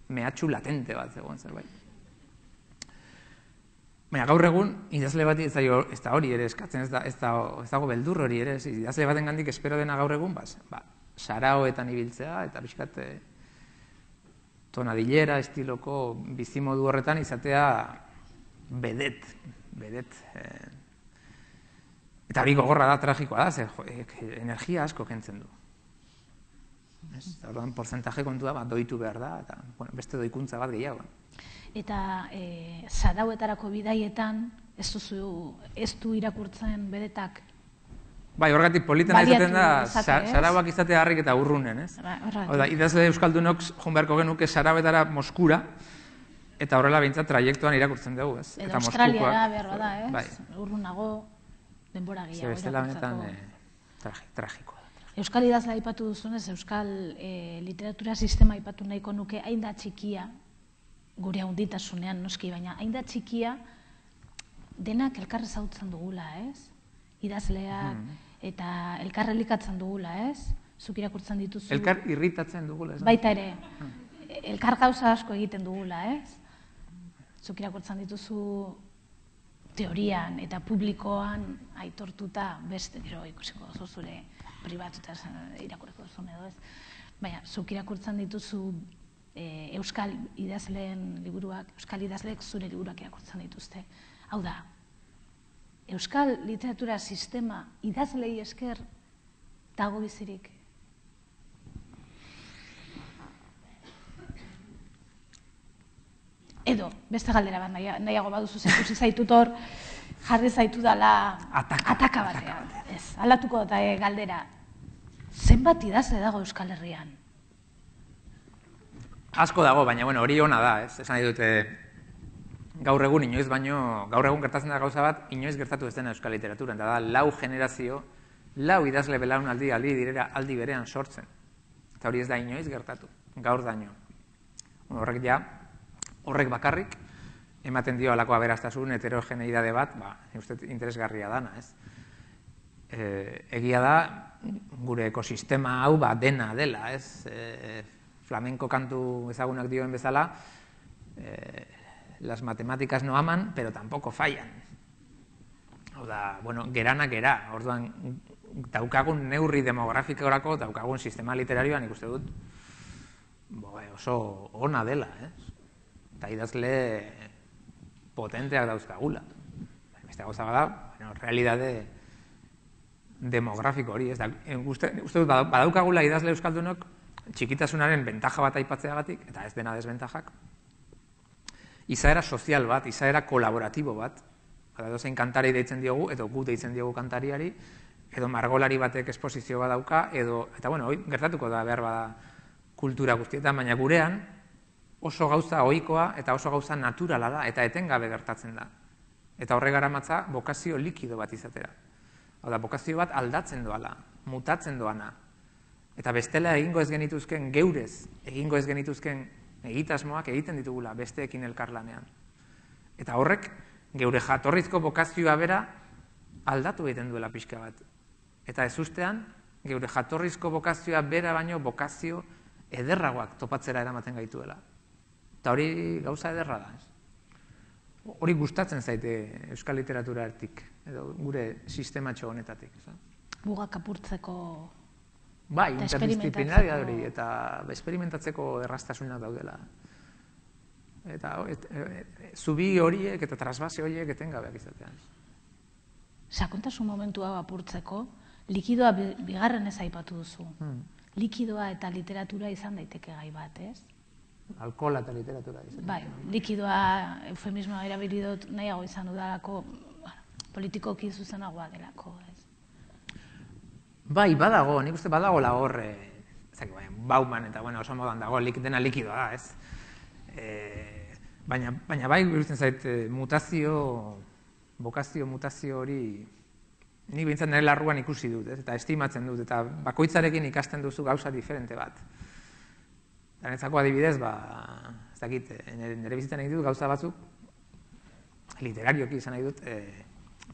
mehatxu latente bat zegoen zerbait. Baina gaur egun, idazle bat ez da hori ere eskatzen, ez, da, ez, da, ez dago beldur hori ere, ez, idazle baten gandik espero dena gaur egun, bas, ba, saraoetan ibiltzea, eta pixkat tonadillera, estiloko bizimodu horretan izatea bedet, bedet. Eh, eta hori gogorra da, tragikoa da, ze, jo, energia asko kentzen du. Orduan, porcentaje kontua bat doitu behar da, eta bueno, beste doikuntza bat gehiago. Eta e, zarauetarako bidaietan ez duzu, ez du irakurtzen bedetak? Bai, horregatik politena izaten da, sarauak izatea harrik eta urrunen, ez? Ba, idazle euskaldunok joan beharko genuke sarauetara Moskura, eta horrela behintzat trajektuan irakurtzen dugu, ez? Edo Australiara behar da, ez? Bai. Urrunago, denbora gehiago irakurtzeko. Tragikoa. Euskal idazle aipatu duzunez, euskal e, literatura sistema aipatu nahiko nuke hain da txikia, gure handitasunean noski, baina hain da txikia denak elkar ezagutzen dugula, ez? Idazleak hmm. eta elkar elikatzen dugula, ez? Zuk irakurtzen dituzu... Elkar irritatzen dugula, ez? Baita ere, hmm. elkar gauza asko egiten dugula, ez? Zuk irakurtzen dituzu teorian eta publikoan aitortuta beste, gero ikusiko duzu zure pribatuta irakurreko duzun edo, ez? Baina, zuk irakurtzen dituzu e, euskal idazleen liburuak, euskal idazleek zure liburuak irakurtzen dituzte. Hau da, euskal literatura sistema idazlei esker dago bizirik. Edo, beste galdera bat nahiago baduzu zekusi zaitut hor, jarri zaitu dela ataka batean. Ez, aldatuko da galdera, zenbat idazle dago Euskal Herrian? Asko dago, baina bueno, hori ona da, ez? Esan nahi dute gaur egun inoiz baino, gaur egun gertatzen da gauza bat, inoiz gertatu ez dena euskal literaturan, eta da lau generazio, lau idazle belaunaldi aldi direra aldi berean sortzen. Eta hori ez da inoiz gertatu, gaur daño. Horrek ja, horrek bakarrik, ematen dio alako aberastasun, heterogeneidade bat, ba, uste interesgarria dana, ez? E, egia da, gure ekosistema hau ba, dena dela, ez? E, flamenko kantu ezagunak dioen bezala, e, las matemáticas no aman, pero tampoco fallan. Hau da, bueno, gerana gera, orduan, daukagun neurri demografikorako, daukagun sistema literarioan ikuste dut, bo, oso ona dela, ez? Eta idazle potenteak dauzkagula. Beste gauza bada, bueno, realidade demografiko hori, ez da, uste dut badaukagula idazle euskaldunok txikitasunaren bentaja bat aipatzeagatik, eta ez dena desbentajak, izaera sozial bat, izaera kolaboratibo bat, edo zein kantari deitzen diogu, edo gu deitzen diogu kantariari, edo margolari batek esposizio bat dauka, edo, eta bueno, hoi, gertatuko da behar bada kultura guztietan, baina gurean, oso gauza ohikoa eta oso gauza naturala da, eta etengabe gertatzen da. Eta horre garamatza bokazio likido bat izatera. Hau da, bokazio bat aldatzen doala, mutatzen doana. Eta bestela egingo ez genituzken geurez, egingo ez genituzken egitasmoak egiten ditugula besteekin elkarlanean. Eta horrek, geure jatorrizko bokazioa bera aldatu egiten duela pixka bat. Eta ez ustean, geure jatorrizko bokazioa bera baino bokazio ederragoak topatzera eramaten gaituela. Eta hori gauza ederra da, ez? Hori gustatzen zaite euskal literaturatik, edo gure sistematxo honetatik, ez? Mugak apurtzeko... Bai, interdisziplinaria hori, eta esperimentatzeko errastasunak daudela. Eta zubi horiek eta trasbase horiek etengabeak izatean. Sakontasun momentu hau apurtzeko, likidoa bigarren ez aipatu duzu. Likidoa eta literatura izan daiteke gai bat, ez? Alkohola eta literatura izan. Bai, likidoa, eufemismoa erabili dut nahiago izan dudalako, politikoki zuzenagoa delako, ez? Bai, badago, nik uste badago la hor, Bauman eta, bueno, oso modan dago, dena likidoa da, ez? Baina bai, gurutzen zait, mutazio, bokazio mutazio hori, nik behintzat nire larruan ikusi dut, eta estimatzen dut, eta bakoitzarekin ikasten duzu gauza diferente bat. Danetzako adibidez, ba, ez dakit, nire bizitzen egin dut gauza batzuk, literarioki izan nahi dut,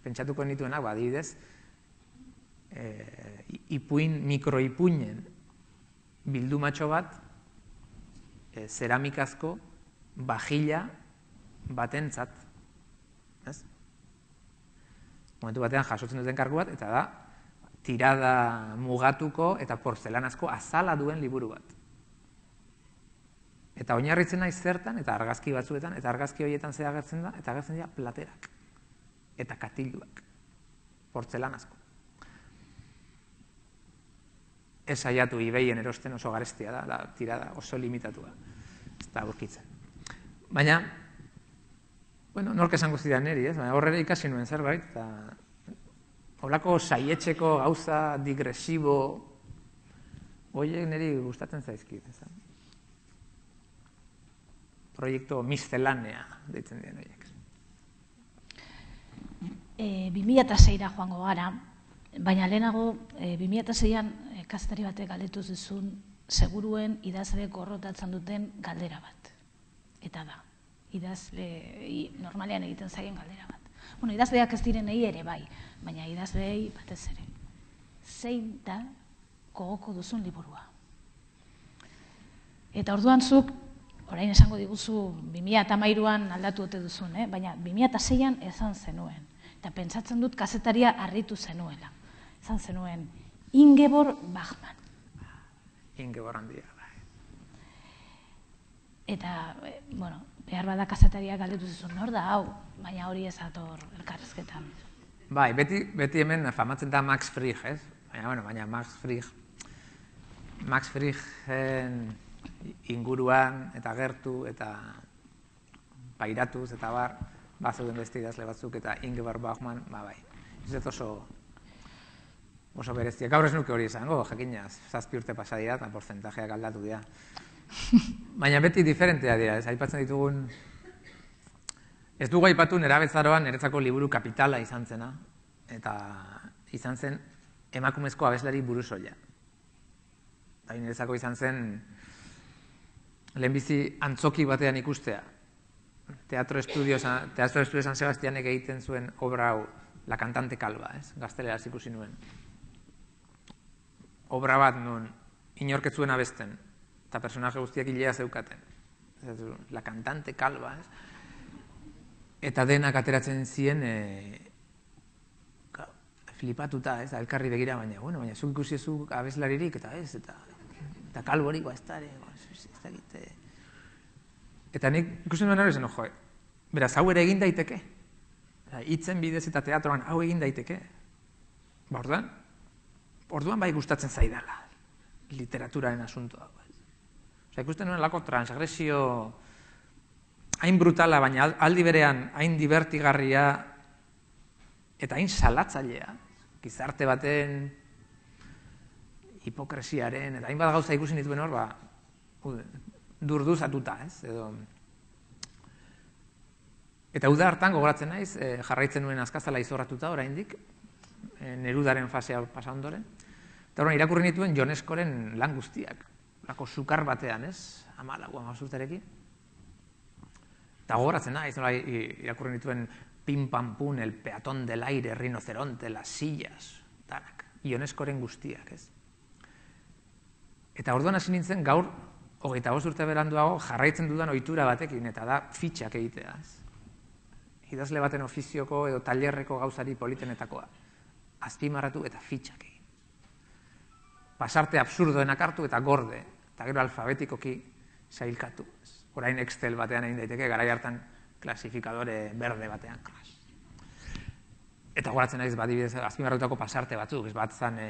pentsatuko nituenak, ba, adibidez, ipuin, mikroipuinen bildumatxo bat, zeramikazko bajila batentzat, ez? Momentu batean jasotzen duten kargu bat, eta da, tirada mugatuko eta porzelanazko azala duen liburu bat. Eta oinarritzen naiz zertan, eta argazki batzuetan, eta argazki horietan zea agertzen da, eta agertzen dira platerak. Eta katiluak. Portzelanazko. Ez saiatu ibeien erosten oso garestia da, da tirada oso limitatua. Ez da aurkitzen. Baina, bueno, nork esango zidan niri, ez? Baina horrela ikasi nuen zerbait, eta holako saietxeko gauza digresibo horiek niri gustatzen zaizkit, ez da? Proiektu miscelanea deitzen diren horiek. bi mila seira joango gara, baina lehenago bi mila seian kazetari batek galdetu zizun seguruen idazle gorrotatzen duten galdera bat. Eta da, idazle normalean egiten zaien galdera bat. Bueno, idazleak ez direnei ere bai, baina idazleei batez ere. Zein da gogoko duzun liburua? Eta orduan zuk, orain esango diguzu, bi mila hamairuan aldatu ote duzun, baina bi mila seian ezan zenuen. Eta pentsatzen dut kazetaria harritu zenuela. Ezan zenuen, Ingeborg Bachmann. Ingeborg handia, bai. Eta, bueno, behar bada kazetaria galdetu zizun, nor da hau, baina hori ez ator elkarrezketan. Bai, beti hemen famatzen da Max Frisch, ez? Baina, bueno, baina Max Frisch, Max Frischen inguruan eta gertu eta pairatuz eta bar, bazeuden beste idazle batzuk eta Ingeborg Bachmann, ba bai. Ez dut oso oso berezia. Gaur ez nuke hori izango, jakinaz, zazpi urte pasa dira eta porcentajeak aldatu dira. Baina beti diferentea dira, ez aipatzen ditugun. Ez dugu aipatu nerabezaroan niretzako liburu kapitala izan zena, eta izan zen emakumezko abeslari burusoila. Eta niretzako izan zen lehenbizi antzoki batean ikustea. Teatro Estudio San Sebastianek egiten zuen obra hau, La cantante calva, ez? Gazteleraz ikusi nuen. Obra bat nun inork ez zuen abesten, eta personaje guztiak hilea zeukaten. La cantante calva, ez? Eta denak ateratzen ziren flipatuta, ez? Elkarri begira, baina, bueno, baina zuk ikusi zuk abeslaririk, eta ez, eta kalborik, ez da, ez da egite. Eta nik ikusi nuen hori zen, jo, beraz, hau ere egin daiteke. Hitzen bidez eta teatroan hau egin daiteke. Ba, orduan, orduan bai gustatzen zaidala, literaturaren asuntoa. Osa, ikusten nuen lako transgresio hain brutala, baina aldi berean hain divertigarria eta hain salatzailea, gizarte baten hipokresiaren, eta hainbat gauza ikusi nituen hor, ba, durduzatuta, ez, edo. Eta uda hartan gogoratzen naiz, jarraitzen nuen azkazala izorratuta oraindik, Nerudaren fasea pasa ondoren. Eta horren irakurri nituen Ioneskoren lan guztiak, lako sukar batean, ez, hamalau, hamazurtarekin. Eta gogoratzen naiz, irakurri nituen Pim Pam Pum, El peatón del aire, Rinoceronte, Las sillas, danak, Ioneskoren guztiak, ez. Eta orduan hasi nintzen gaur, hogeita bost urte beranduago, jarraitzen dudan ohitura batekin, eta da fitxak egitea, ez. Idazle baten ofizioko edo tailerreko gauzari politenetakoa. Azpimarratu eta fitxak egin. Pasarte absurdoenak hartu eta gorde, eta gero alfabetikoki sailkatu. Orain Excel batean egin daiteke, garai hartan klasifikadore berde batean. Eta goratzen naiz, badibidez, azpimarratutako pasarte batzuk, ez bat zan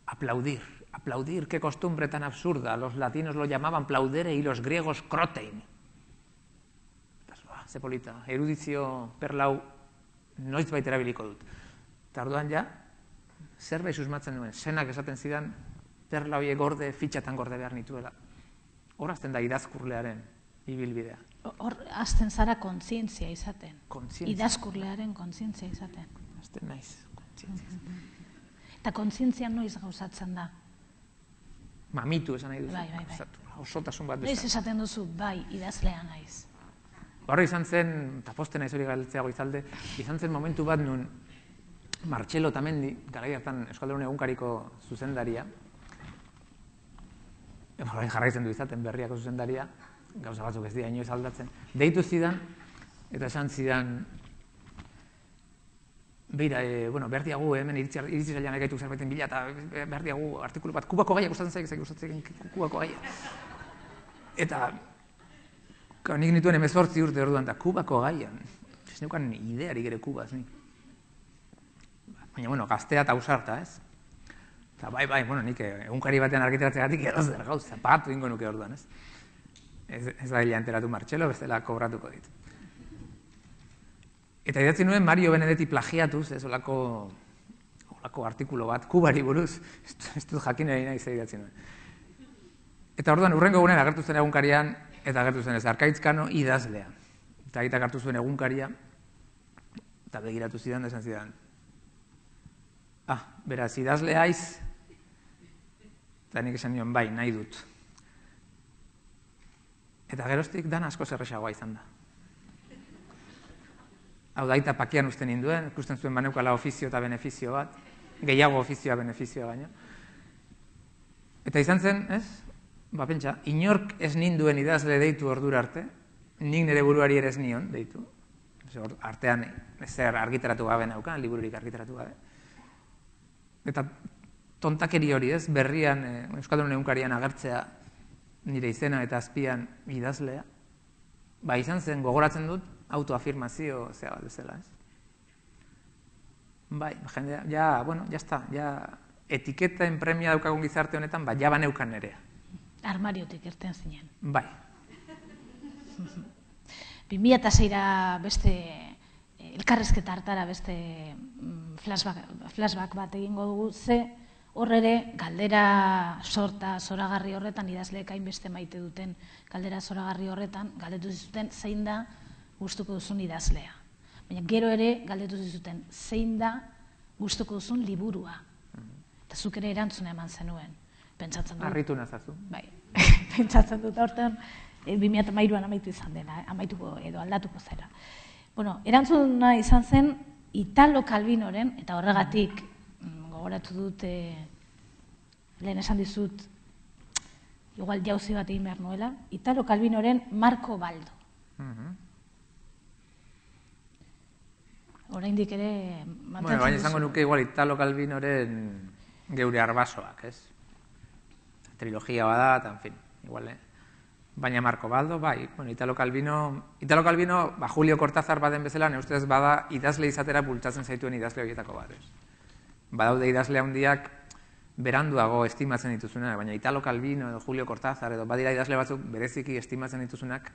aplaudir. Aplaudir, qué costumbre tan absurda. Los latinos lo llamaban plaudere y los griegos crotein. Ze polita, erudizio perlau noiz baita erabiliko dut. Eta orduan ja, zerbait susmatzen nuen, senak esaten zidan, perlauie gorde, fitxatan gorde behar nituela. Hor azten da idazkurlearen ibilbidea. Hor azten zara kontzientzia izaten. Kontzientzia. Idazkurlearen kontzientzia izaten. Azten naiz, kontzientzia izaten. Eta kontzientzia noiz gauzatzen da? mamitu esan nahi duzu. Bai, bai, bai. Osotasun bat Noiz bezala. esaten duzu, bai, idazlea naiz. Horre izan zen, eta posten naiz hori galtzeago izalde, izan zen momentu bat nun Martxelo Otamendi, garai hartan Euskaldun egunkariko zuzendaria, horrein jarraitzen du izaten berriako zuzendaria, gauza batzuk ez dira inoiz aldatzen, deitu zidan, eta esan zidan, beira, e, bueno, behar diagu, hemen iritsi zailan egaitu zerbaiten bila, eta behar diagu artikulu bat, Kubako gaiak gustatzen zaik, zaik gustatzen Kubako gaiak. Eta, nik nituen hemezortzi urte orduan, eta Kubako gaian, ez neukan idearik ere Kubaz, nik. Baina, bueno, gaztea eta ausarta, ez? Eta bai, bai, bueno, nik egunkari batean argitaratzegatik edo zer gauza, pagatu ingo nuke orduan, ez? Ez, ez da dila enteratu Martxelo, bestela kobratuko dit. Eta idatzi nuen Mario Benedetti plagiatuz, ez olako, olako artikulo bat, Kubari buruz, ez dut jakin egin nahi idatzi nuen. Eta orduan, urrengo egunen agertu zen egunkarian, eta agertu zen ez, Arkaitzkano idazlea. Eta aitak hartu zuen egunkaria, eta begiratu zidan, esan zidan. Ah, beraz, idazlea aiz, eta nik esan nion, bai, nahi dut. Eta geroztik dan asko zerrexagoa izan da. Hau da, aita pakian usten ninduen, ikusten zuen baneukala ofizio eta benefizio bat, gehiago ofizioa benefizioa baina. Eta izan zen, ez? Ba, pentsa, inork ez ninduen idazle deitu ordura arte, nik nire buruari ere ez nion deitu. Artean ezer argitaratu gabe naukan, libururik argitaratu gabe. Eta tontakeri hori, ez? Berrian, Euskaldun egunkarian agertzea nire izena eta azpian idazlea. Ba, izan zen, gogoratzen dut, autoafirmazio zea bat bezala, ez? Bai, jendea, ja, bueno, ja está, ja, etiketen premia daukagun gizarte honetan, ba, ja baneukan nerea. Armariotik irten zinen. Bai. bi mila eta seira beste, elkarrezketa hartara beste flashback, flashback bat egingo dugu, ze hor ere galdera sorta, zoragarri horretan, idazleek hainbeste maite duten galdera zoragarri horretan, galdetu zizuten zein da gustuko duzun idazlea. Baina gero ere galdetu zizuten zein da gustuko duzun liburua. Eta zuk ere erantzuna eman zenuen. Pentsatzen dut. Arritu nazazu. Bai, pentsatzen dut hortan, bi mila hamairuan amaitu izan dela, amaituko edo aldatuko zera. Bueno, erantzuna izan zen Italo Calvinoren, eta horregatik gogoratu dut, lehen esan dizut, igual jauzi bat egin behar nuela, Italo Calvinoren Marco Baldo. Oraindik ere mantentzen duzu. Baina izango nuke igual Italo Calvinoren geure arbasoak, ez? Trilogia bada, eta, en fin, igual, eh? Baina Marco Baldo, bai, bueno, Italo Calvino, Italo Calvino, ba, Julio Cortázar baden bezala, ne ustez bada idazle izatera bultzatzen zaituen idazle horietako bat, ez? Badaude idazle handiak beranduago estimatzen dituzunak, baina Italo Calvino edo Julio Cortázar edo badira idazle batzuk bereziki estimatzen dituzunak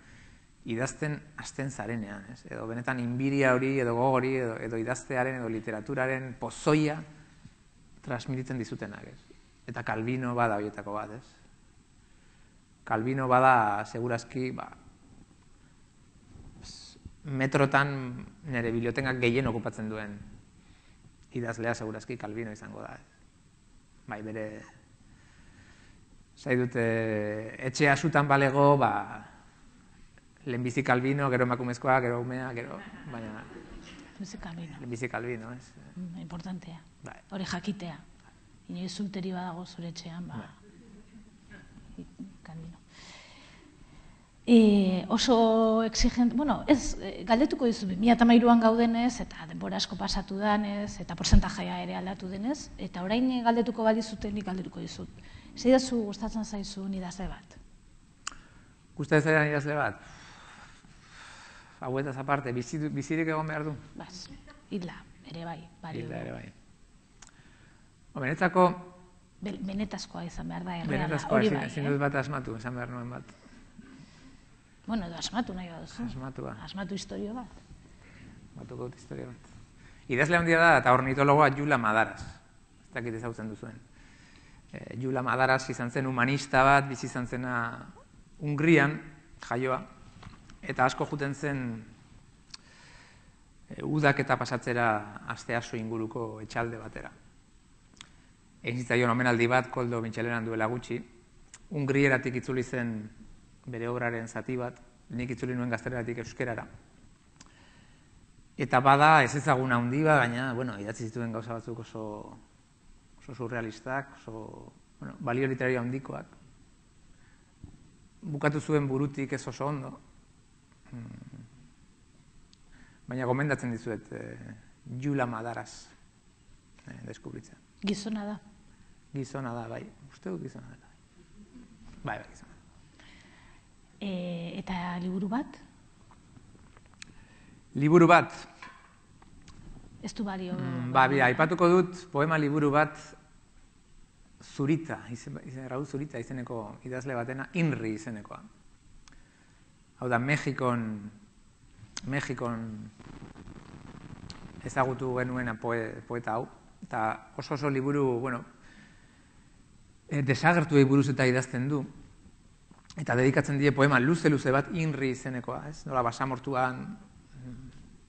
idazten hasten zarenean, ez? Edo benetan inbiria hori, edo gogori, edo, edo idaztearen, edo literaturaren pozoia transmititzen dizutenak, ez? Eta Calvino bada horietako bat, ez? Calvino bada, segurazki, ba, metrotan nire bibliotengak gehien okupatzen duen idazlea, segurazki, Calvino izango da, ez? Bai, bere, zai dute, etxea sutan balego, ba, lehenbizi Calvino, gero emakumezkoa, gero umea, gero, baina... Lehenbizi Calvino. Lehenbizi Calvino, ez? Mm, importantea. Bai. Hori jakitea. Inoiz zulteri badago zure etxean, ba... Calvino. E, oso exigent, bueno, ez, galdetuko dizu, bi mila hamairuan gaudenez, eta denbora asko pasatu danez, eta porcentajaia ere aldatu denez, eta orain galdetuko badizuten, nik galdetuko dizut. Zeidazu gustatzen zaizu idazle bat? Gustatzen zaidan idazle bat? Hauetaz aparte, bizirik egon behar du? Baz, hilda, ere bai. Hilda, ere bai. Benetzako... Benetazkoa izan behar da, erreala, Benetazkoa, hori bai. ezin dut bat asmatu, esan behar nuen bat. Bueno, edo asmatu nahi baduzu. Asmatua. Asmatu historio bat. Batuko dut historio bat. Idazle handia da, eta ornitologoa Jula Madaras. Ez dakit ezagutzen duzuen. Jula Madaras izan zen humanista bat, bizi izan zena Hungrian, jaioa, eta asko juten zen udak eta pasatzera asteaso inguruko etxalde batera. Egin zitzaion omenaldi bat, Koldo Mitxelenan duela gutxi, Hungrieratik itzuli zen bere obraren zati bat, nik itzuli nuen gazteleratik euskerara. Eta bada ez ezaguna handi bat, baina, bueno, idatzi zituen gauza batzuk oso, oso surrealistak, oso, bueno, balio literario handikoak. Bukatu zuen burutik ez oso ondo, baina gomendatzen dizuet eh, Jula Madaras eh, deskubritzen. Gizona da. Gizona da, bai. Uste dut gizona da. Bai, bai, gizona. E, eta liburu bat? Liburu bat. Ez du balio. Mm, ba, bira, aipatuko dut poema liburu bat Zurita, izen, izen, Raúl Zurita izeneko idazle batena, Inri izenekoa. Hau da, Mexikon, Mexikon ezagutu genuena poe, poeta hau, eta oso oso liburu, bueno, e, desagertuei buruz eta idazten du, eta dedikatzen die poema luze-luze bat Inri izenekoa, ez? Nola basamortuan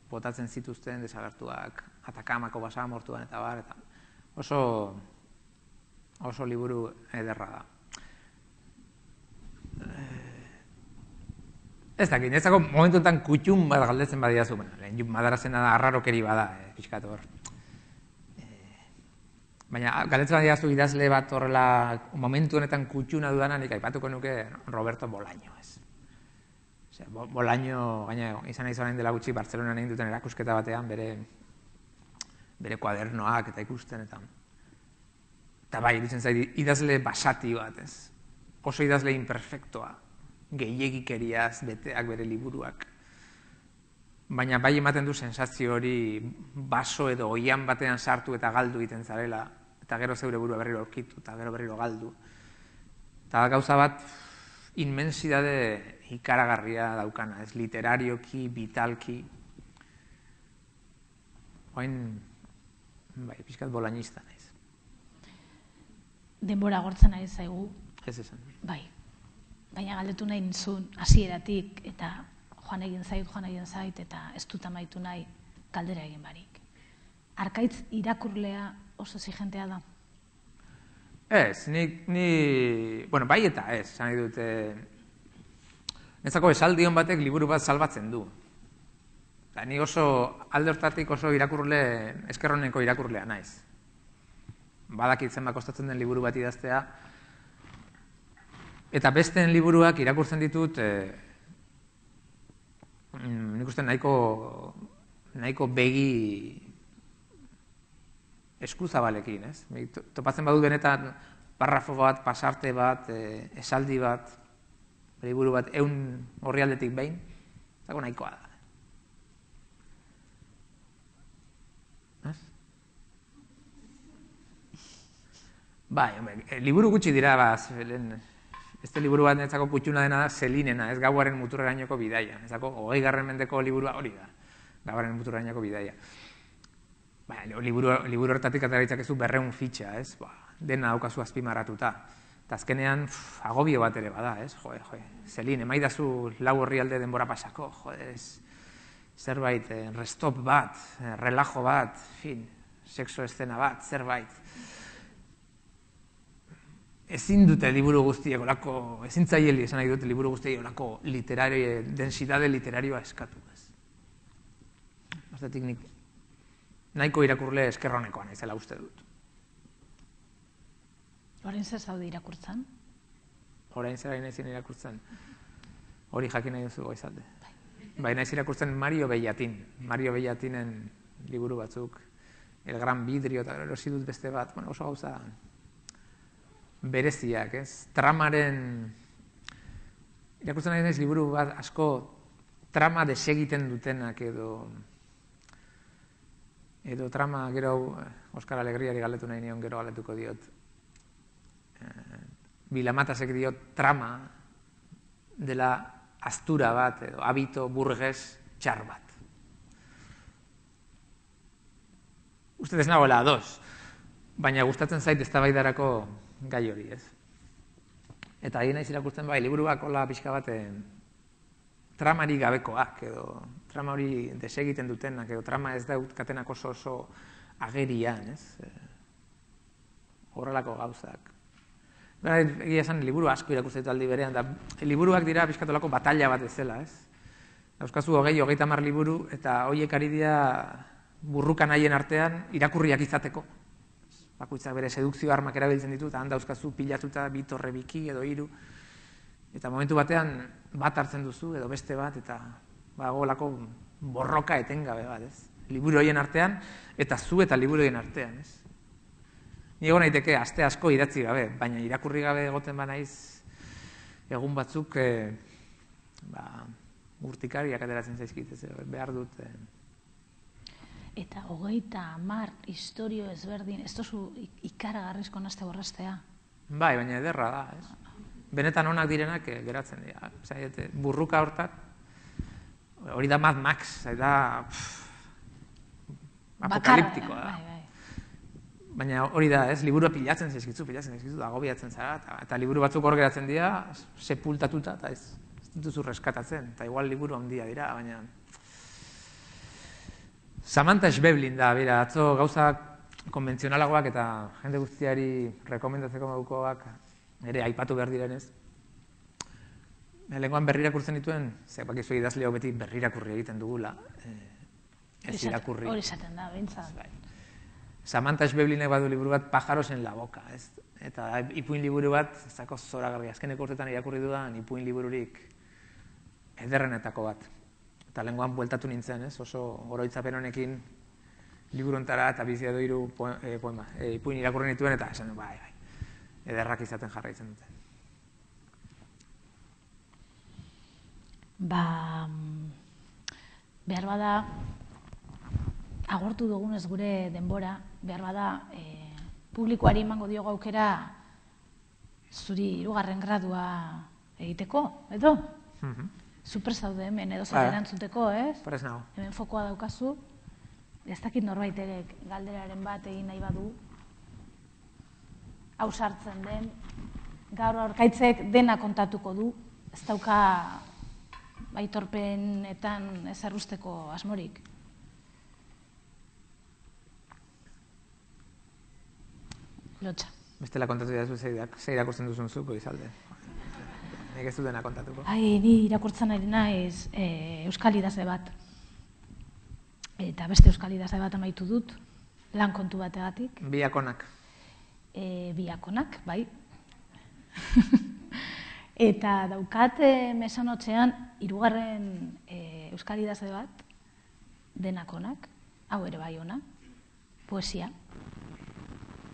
botatzen zituzten desagertuak, Atakamako basamortuan eta bar, eta oso, oso liburu ederra da. Ez dakit, netzako momentuetan kutxun bat galdetzen badiazu, bueno, lehen Madarazena da arrarokeri bada, eh, pixkat hor. Baina galdetzen badiazu idazle bat horrela momentu honetan kutxuna dudana, nik aipatuko nuke Roberto Bolaño, ez. Osea, Bolaño, gaina izan nahi zorain dela gutxi, Bartzelonan egin duten erakusketa batean, bere, bere kuadernoak eta ikusten, eta eta bai, iruditzen zait, idazle basati bat, ez. Oso idazle imperfektoa, gehiegikeriaz beteak bere liburuak. Baina bai ematen du sensazio hori baso edo oian batean sartu eta galdu egiten zarela, eta gero zeure burua berriro aurkitu, eta gero berriro galdu. Eta gauza bat, inmensidade ikaragarria daukana, ez literarioki, vitalki. Oain, bai, pixkat bolañista naiz. Denbora gortzen ari zaigu. Ez esan. Bai. Baina galdetu nahi nizun hasieratik eta joan egin zait, joan egin zait, eta ez dut amaitu nahi galdera egin barik. Arkaitz irakurlea oso exigentea da? Ez, ni, ni, bueno, bai eta ez, esan nahi dute, netzako esaldion batek liburu bat salbatzen du. Eta ni oso, alde hortatik oso irakurle, eskerroneko irakurlea naiz. Badakit zenbat kostatzen den liburu bat idaztea, eta besteen liburuak irakurtzen ditut, eh, nik uste nahiko, nahiko begi eskuzabalekin, ez? Topatzen badut benetan parrafo bat, pasarte bat, eh, esaldi bat, liburu bat, ehun orrialdetik behin, zako nahikoa da. Ez? Bai, liburu gutxi dira, baz, este liburu bat netzako kutxuna dena da Zelinena, ez Gauaren muturrerainoko bidaia. Ezako hogei garren mendeko liburua hori da, Gauaren muturrerainoko bidaia. Ba, liburu, liburu horretatik atera ez berreun fitxa, ez? Ba, dena daukazu azpimarratuta. Eta azkenean, pff, agobio bat ere bada, ez? Joe, joe, Zelin, emaidazu lau orrialde denbora pasako, joe, ez? Zerbait, eh, restop bat, eh, relajo bat, fin, sexo estena bat, zerbait. Ezin dute liburu guztiek olako, ezin zaieli esan nahi dute liburu guztiek olako literario, densidade literarioa eskatu, ez? Aztetik nik nahiko irakurle eskerronekoa naizela uste dut. Orain zer zaude irakurtzen? Orain zer naizien irakurtzen? Hori jakin nahi duzu goizalde. Bai, naiz irakurtzen Mario Bellatin. Mario Bellatinen liburu batzuk, El Gran Vidrio, eta erosi dut beste bat, bueno, oso gauza bereziak, ez? Tramaren, irakurtzen nahi naiz liburu bat asko trama desegiten dutenak edo edo trama gero Oskar Alegriari galdetu nahi nion gero galdetuko diot. Eh, Bilamatasek diot trama dela astura bat edo habito burges txar bat. Uste ez nagoela ados, baina gustatzen zait eztabaidarako gai hori, ez? Eta ari naiz irakurtzen bai, liburuak hola pixka baten tramari gabekoak, edo trama hori desegiten dutenak, edo trama ez daukatenak oso oso agerian, ez? Horrelako gauzak. Egia esan, liburu asko irakurtzen dut aldi berean, da liburuak dira pixkatolako batalla bat ezela, ez? Dauzkazu hogei, hogeita hamar liburu, eta horiek ari dira burrukan haien artean irakurriak izateko. Bakoitzak bere sedukzio armak erabiltzen ditu, eta han dauzkazu pilatuta bi torre biki edo hiru. Eta momentu batean bat hartzen duzu, edo beste bat, eta bagolako borroka etengabe bat, ez? Liburu horien artean, eta zu eta liburu horien artean, ez? Ni egon naiteke aste asko idatzi gabe, baina irakurri gabe egoten banaiz egun batzuk eh, ba, urtikariak ateratzen zaizkit, ez, behar dut. Eh. Eta hogeita hamar historio ezberdin, ez tozu ikaragarrizko nazte borrastea? Bai, baina ederra da, ez? Benetan onak direnak eh, geratzen dira. Zaiete, burruka hortak, hori da Mad Max, da apokaliptikoa da. Bai, bai. Baina hori da, ez, liburua pilatzen zaizkitzu, pilatzen zaizkitzu, agobiatzen zara, eta, eta liburu batzuk hor geratzen dira, sepultatuta, eta ez, ez dituzu reskatatzen, eta igual liburu handia dira, baina... Samantha Schweblin da, bera, atzo gauza konbentzionalagoak eta jende guztiari rekomendatzeko modukoak ere aipatu behar direnez. Lehengoan berrirakurtzen dituen, ze bakizu idazleo beti berrirakurri egiten dugula, ez irakurri. Hori izaten da, bintzat. Samantha Schweblinek badu liburu bat Pájaros en la boca, ez? Eta ipuin liburu bat, ez dako zoragarri, azkeneko urtetan irakurri dudan ipuin libururik ederrenetako bat. Eta lehengoan bueltatu nintzen, ez? Oso oroitzapen honekin liburuntara eta bizia edo hiru poema, ipuin irakurri nituen eta esan, bai, bai, ederrak izaten jarraitzen dute. Ba, behar bada, agortu dugunez gure denbora, behar bada, e, publikoari emango diogu aukera zuri hirugarren gradua egiteko, edo? Mm-hmm. Super zaude hemen, edo zer erantzuteko, ez? Prez nago. Hemen fokoa daukazu, ez dakit norbaitek galderaren bat egin nahi badu, hau sartzen den, gaur aurkaitzek dena kontatuko du, ez dauka aitorpenetan ez errusteko asmorik. Lotxa. Bestela kontatu dira ze irakurtzen duzun zuko izalde. Nik ez du dena kontatuko. Ai, ni irakurtzen ari naiz euskal idazle bat. Eta beste euskal idazle bat amaitu dut, lan kontu bategatik. Biakonak. Biakonak, bai. Eta daukat mesanotxean hirugarren euskal idazle bat, denakonak, hau ere bai ona, poesia.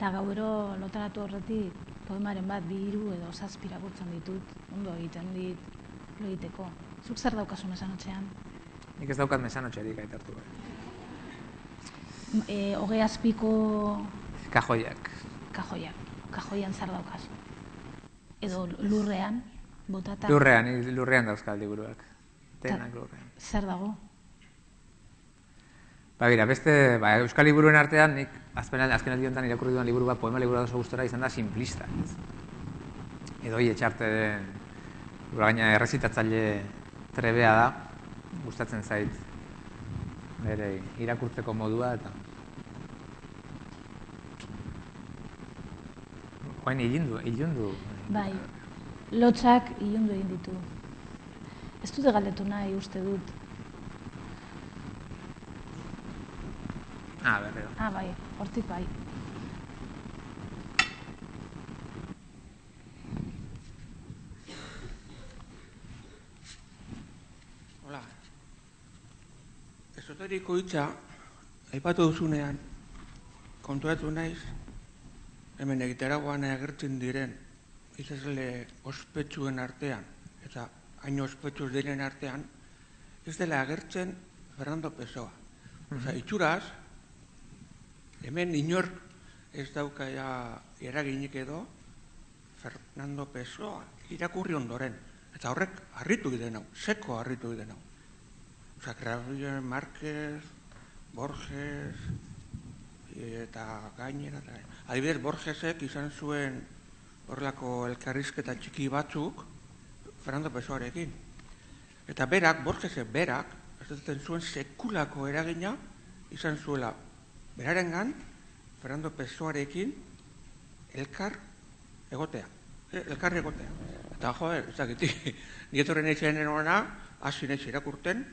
Eta gauro lotaratu horretik poemaren bat, bi hiru edo zazpi irakurtzen ditut, ondo egiten dit, lo egiteko. Zuk zer daukazu mesanotxean? Nik ez daukat mesanotxerik aitartu. Hogei azpiko... Kajoiak. Kajoiak. Kajoian zer daukazu? Edo lurrean, botata? Lurrean, lurrean dauzka liburuak. Denak lurrean. Zer dago? Ba, gira, beste, ba, euskal liburuen artean, nik azken aldi honetan irakurri duan liburu bat, poema liburu oso gustora izan da Simplista. Edo hoi etxarte den, gaina errezitatzaile trebea da, gustatzen zait, bere irakurtzeko modua, eta... Joain ilundu, ilundu. Bai, lotxak ilundu egin ditu. Ez dute galdetu nahi uste dut. Ah, berriro. Ah, bai, hortik bai. Hola. Esoteriko hitza, aipatu duzunean, kontuatu naiz, hemen egiteragoan agertzen diren idazle ospetsuen artean, eta hain ospetsuz diren artean, ez dela agertzen Fernando Pessoa. Osa, itxuraz, hemen inork ez dauka eraginik edo Fernando Pessoa irakurri ondoren. Eta horrek harritu giden hau, seko harritu giden hau. Osa, García Márquez, Borges, eta gainera. Adibidez, Borgesek izan zuen horrelako elkarrizketa txiki batzuk Fernando Pessoarekin. Eta berak, Borgesek berak, ez zuen sekulako eragina izan zuela berarengan Fernando Pessoarekin elkar egotea. elkarri egotea. Eta, joder, ez dakit, nietorren eitzen erona, hasi naiz irakurten,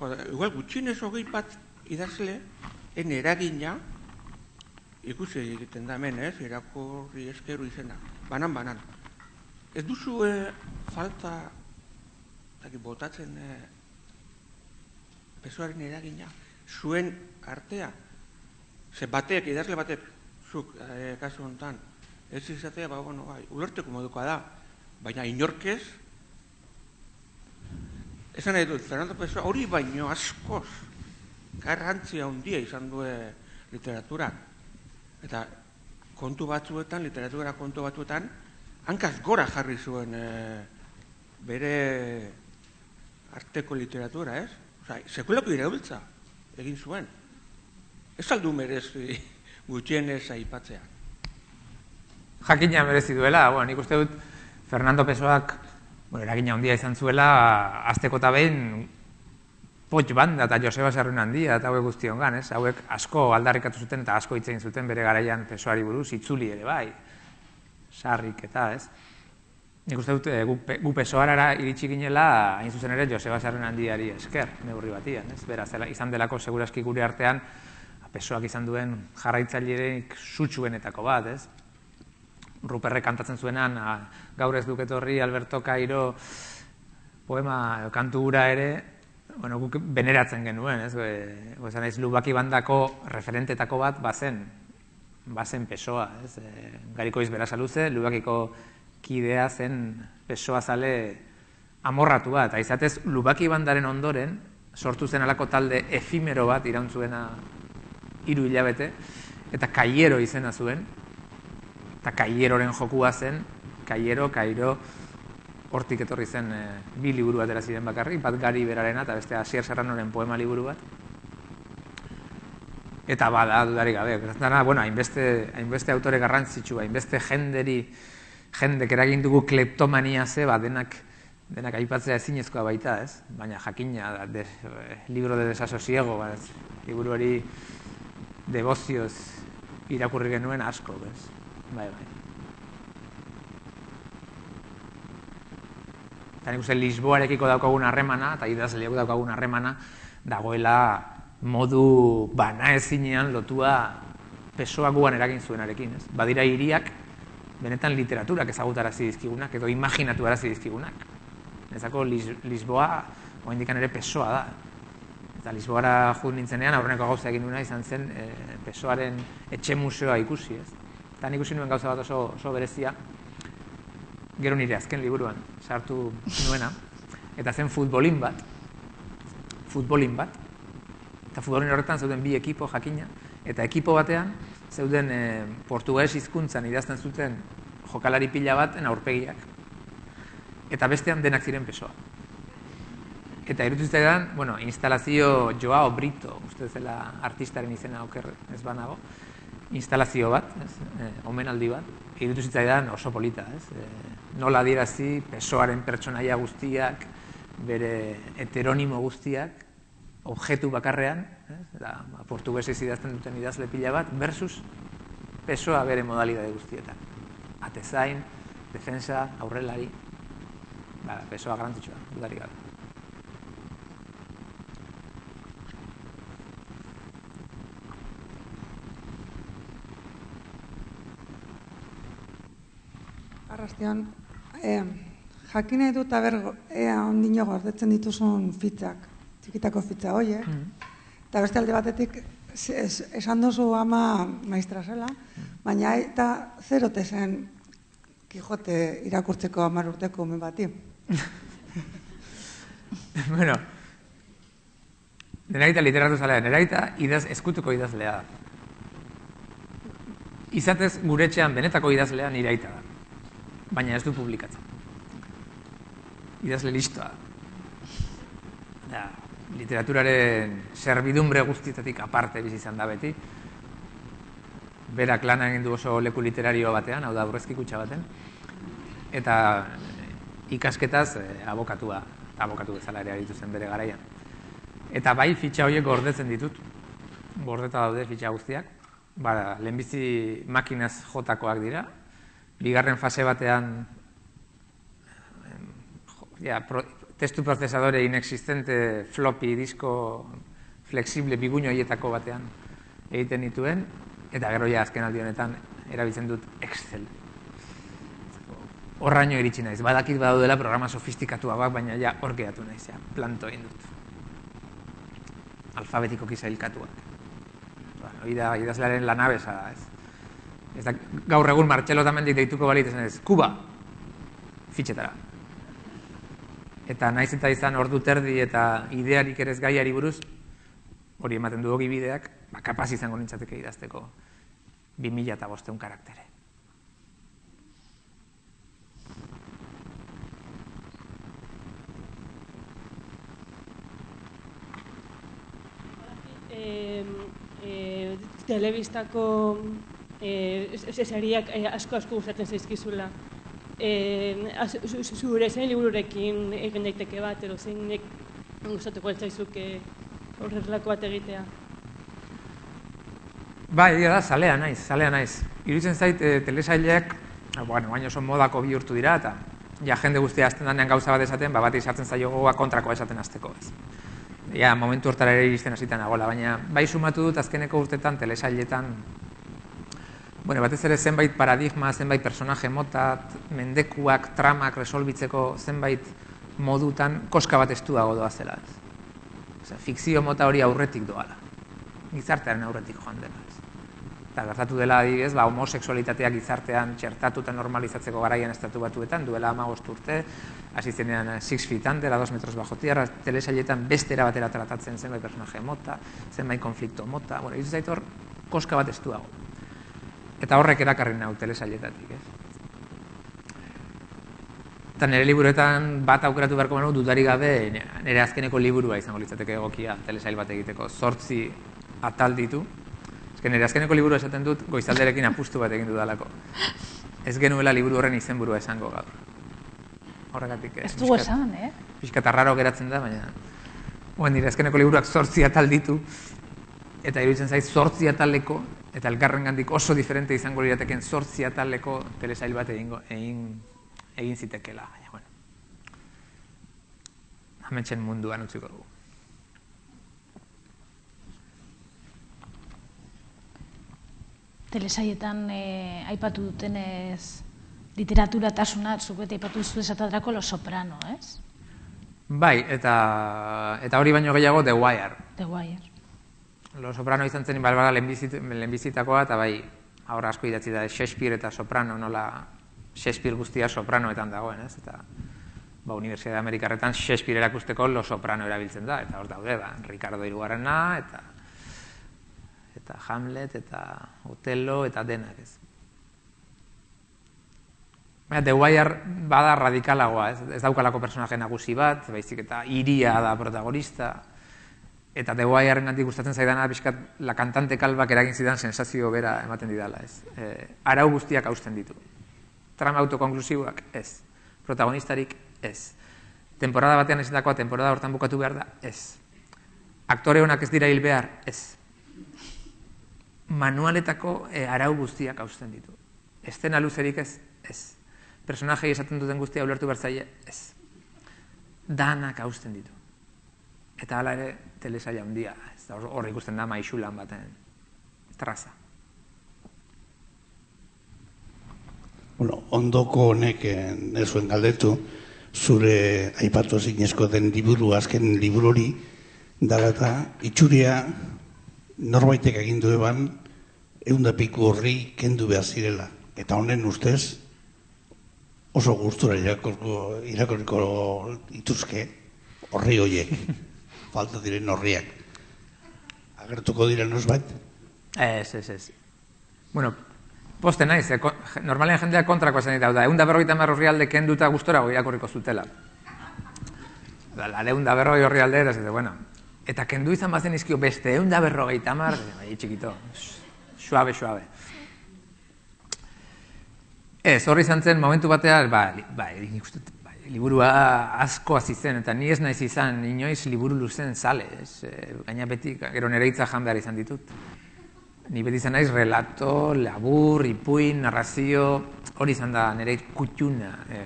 joder, igual gutxinez hogei bat idazle, en eragina, ikusi egiten da hemen, ez, irakurri eskeru izena, banan-banan. Ez duzu falta, botatzen pesoaren eragina, zuen artea, ze batek, idazle batek, zuk, kasu honetan, ez izatea, ba, bueno, bai, ulerteko modukoa da, baina inorkez, esan nahi dut, Fernando Pessoa hori baino askoz, garrantzia handia izan du literatura. Eta kontu batzuetan, literatura kontu batzuetan, hankaz gora jarri zuen bere arteko literatura, ez? Osa, sekulako iraultza egin zuen. Ez aldu merezi gutxienez aipatzea. Jakina merezi duela, bueno, nik uste dut Fernando Pessoak bueno, eragina handia izan zuela, azteko eta behin Poch Banda eta Joseba Sarrionandia eta hauek guztiongan, ez? Hauek asko aldarrikatu zuten eta asko hitz egin zuten bere garaian Pessoari buruz, itzuli ere bai, sarrik eta, ez? Nik uste dut gu Pessoarara iritsi ginela, hain zuzen ere Joseba Sarrionandiari esker, neurri batian, ez? Beraz, izan delako segurazki gure artean, Pessoak izan duen jarraitzailerik sutsuenetako bat, ez? Ruperrek kantatzen zuenan, gaur ez duk etorri Alberto Cairo poema kantu hura ere, bueno, guk beneratzen genuen, ez? Gozan ez, Lubaki Bandako referentetako bat bazen, bazen Pessoa, ez? Garikoiz Berasaluze, Lubakiko kidea zen Pessoa zale amorratu bat, eta izatez Lubaki Bandaren ondoren sortu zen alako talde efimero bat irautzuena hiru hilabete, eta Kaiero izena zuen, eta Kaieroren jokua zen, Kaiero, Kairo, hortik etorri zen bi liburu atera ziren bakarrik, bat Gari berarena eta beste Asier Serranoren poema liburu bat. Eta bada, dudarik gabe, gertatzen bueno, hainbeste, hainbeste autore garrantzitsua, hainbeste jenderi, jendek eragin dugu kleptomania ze, ba, denak, denak aipatzea ezinezkoa baita, ez? Baina jakina, de, libro de desasosiego, ba, liburu hori debozioz irakurri genuen asko, bez? Bai, bai. Eta nik uste Lisboarekiko daukagun harremana, eta idazleak daukagun harremana, dagoela modu banaezinean lotua Pessoa guan eragin zuenarekin, ez? Badira hiriak, benetan literaturak ezagutarazi dizkigunak, edo imaginatu arazi dizkigunak. Ezako Lisboa, oraindik ere Pessoa da. Eta Lisboara jut nintzenean, aurreneko gauza egin duena izan zen Pessoaren etxe museoa ikusi, ez? Eta nik ikusi nuen gauza bat oso, oso berezia, gero nire azken liburuan sartu nuena, eta zen futbolin bat, futbolin bat, eta futbolin horretan zeuden bi ekipo jakina, eta ekipo batean zeuden e, portugues hizkuntzan idazten zuten jokalari pila bat aurpegiak, eta bestean denak ziren Pessoa. Eta irutu zitzaidan, bueno, instalazio Joao Brito, uste zela artistaren izena oker ez banago, instalazio bat, ez, e, omenaldi bat, irutu zitzaidan oso polita, ez, e, nola adierazi Pessoaren pertsonaia guztiak, bere heteronimo guztiak, objektu bakarrean, ez, eta portugesez idazten duten idazle pila bat, versus Pessoa bere modalidade guztietan. Atezain, defensa, aurrelari, ba, Pessoa garrantzitsua, dudarik gabe. Arrastion, eh, jakin nahi dut aber ea ondino gordetzen dituzun fitzak, txikitako fitza horiek, mm. eta beste alde batetik es, esan duzu ama maistra zela, mm. baina eta zerote zen Kijote irakurtzeko hamar urteko ume bati. Bueno, neraita literatu zalea, neraita idaz, eskutuko idazlea da. Izatez gure etxean benetako idazlea nire aita da. Baina ez du publikatzen. Idazle listoa. Da, literaturaren servidumbre guztietatik aparte bizi izan da beti. Berak lana egin du oso leku literario batean, hau da aurrezki kutxa baten. Eta ikasketaz eh, abokatua, abokatu bezala ere aritu zen bere garaian. Eta bai fitxa horiek gordetzen ditut. Gordeta daude fitxa guztiak. Ba, lehenbizi makinaz jotakoak dira. bigarren fase batean ja, pro, testu prozesadore inexistente floppy disko flexible biguño hietako batean egiten dituen, eta gero ja azken aldi honetan erabiltzen dut Excel. Horraino iritsi naiz, badakit badaudela programa sofistikatuagoak, baina ja hor geratu naiz, ja, planto egin dut. Alfabetikoki sailkatuak. Hori da, idazlearen lanabesa da, ez. Ez da, gaur egun Martxelo Otamendik deituko balit esan ez, Kuba, fitxetara. Eta naiz eta izan ordu terdi eta idearik ere ez gaiari buruz, hori ematen du ogibideak, ba, kapaz izango nintzateke idazteko bi mila eta bostehun karaktere. Eh, eh, telebistako eh, seriak eh, asko asko gustatzen zaizkizula. Eh, zure zein libururekin egin daiteke bat, edo zeinek gustatuko altzaizuke horrelako bat egitea? Bai, egia da, zalea naiz, zalea naiz. Iruditzen zait, e, telesaileak, bueno, baina oso modako bihurtu dira, eta ja jende guztia azten danean gauza bat esaten, ba, bat izartzen zaio gogoa kontrakoa esaten azteko, ez. Ja, momentu hortara ere iristen hasita nagoela, baina bai sumatu dut azkeneko urtetan telesailetan, bueno, batez ere zenbait paradigma, zenbait personaje mota, mendekuak, tramak resolbitzeko zenbait modutan koska bat estuago doa zela, ez. Osea, fikzio mota hori aurretik doala, gizartearen aurretik joan dela, ez. Eta gertatu dela adibidez, ba, homosexualitatea gizartean txertatu eta normalizatzeko garaian estatu batuetan, duela hamabost urte, hasi zenean six feet under, a dos metros bajo tierra, telesailetan beste era batera tratatzen zenbait personaje mota, zenbait konflikto mota, bueno, iruditzen zait hor koska bat estuago. Eta horrek erakarri nau telesailetatik, ez? Eta nire liburuetan bat aukeratu beharko banu dudarik gabe nire azkeneko liburua izango litzateke egokia telesail bat egiteko, zortzi atal ditu. Ezken nire azkeneko liburu esaten dut goizalderekin apustu bat egin dudalako. Ez genuela liburu horren izenburua esango gaur. Horregatik, ez dugu esan, eh? Pixka tarraro geratzen da, baina Oen, nire azkeneko liburuak zortzi atal ditu, eta iruditzen zait zortzi ataleko, eta elkarrengandik oso diferente izango lirateken zortzi ataleko telesail bat egingo, egin, egin zitekela. Baina, bueno, ametsen munduan utziko dugu. Telesaietan eh, aipatu dutenez literatura-tasuna, zuk beti aipatu duzu esatadrako Los Soprano, ez? Bai, eta, eta hori baino gehiago The Wire. The Wire. Los Soprano izan zen balbara lehenbizitakoa, eta bai, ahora asko idatzi da Shakespeare eta Soprano, nola Shakespeare guztia Sopranoetan dagoen, ez? Eta ba, Unibertsitate Amerikarretan Shakespeare erakusteko Los Soprano erabiltzen da, eta hor daude, ba, Ricardo hirugarrena, eta eta Hamlet, eta Otelo, eta denak, ez. Baina, The Wire bada radikalagoa, ez, ez daukalako personaje nagusi bat, baizik eta iria da protagonista, eta The Wireren gandik gustatzen zaidana, pixkat, la kantante kalbak eragin zidan sensazio bera ematen didala, ez. E, arau guztiak hausten ditu. Trama autokonklusiboak, ez. Protagonistarik, ez. Temporada batean ezindakoa, temporada hortan bukatu behar da, ez. Aktore honak ez dira hil behar, ez. Manualetako e, arau guztiak hausten ditu. Estena luzerik ez, ez. Personajei esaten duten guztia ulertu bertzaile, ez. Danak hausten ditu. Eta hala ere, telesaila handia, ez da hor ikusten da maixulan baten traza. Bueno, ondoko honek ez zuen galdetu, zure aipatu ezinezko den liburu, azken liburu hori, dara eta itxuria norbaitek egin du eban, ehun da piku horri kendu behar zirela. Eta honen ustez, oso gustura irakorko, irakoriko ituzke horri horiek, falta diren horriak. Agertuko diren nosbait? Ez, ez, ez. Bueno, poste naiz, eh, normalean jendeak kontrako esan ditu da, ehun da berrogeita hamar horrialde kenduta gustorago irakorriko zutela. Ehun da berrogei horrialde ere, bueno, eta kendu izan bazen izkio beste, ehun da berrogeita hamar, bai, txikito, suabe, suabe. Ez, horri izan zen, momentu batean, ba, ba, ba, liburua asko hasi zen, eta ni ez naiz izan, inoiz liburu luzen zale, ez, e, gaina beti, gero nire hitza jan behar izan ditut. ni beti izan naiz relato, labur, ipuin, narrazio, hori izan da nire kutxuna e,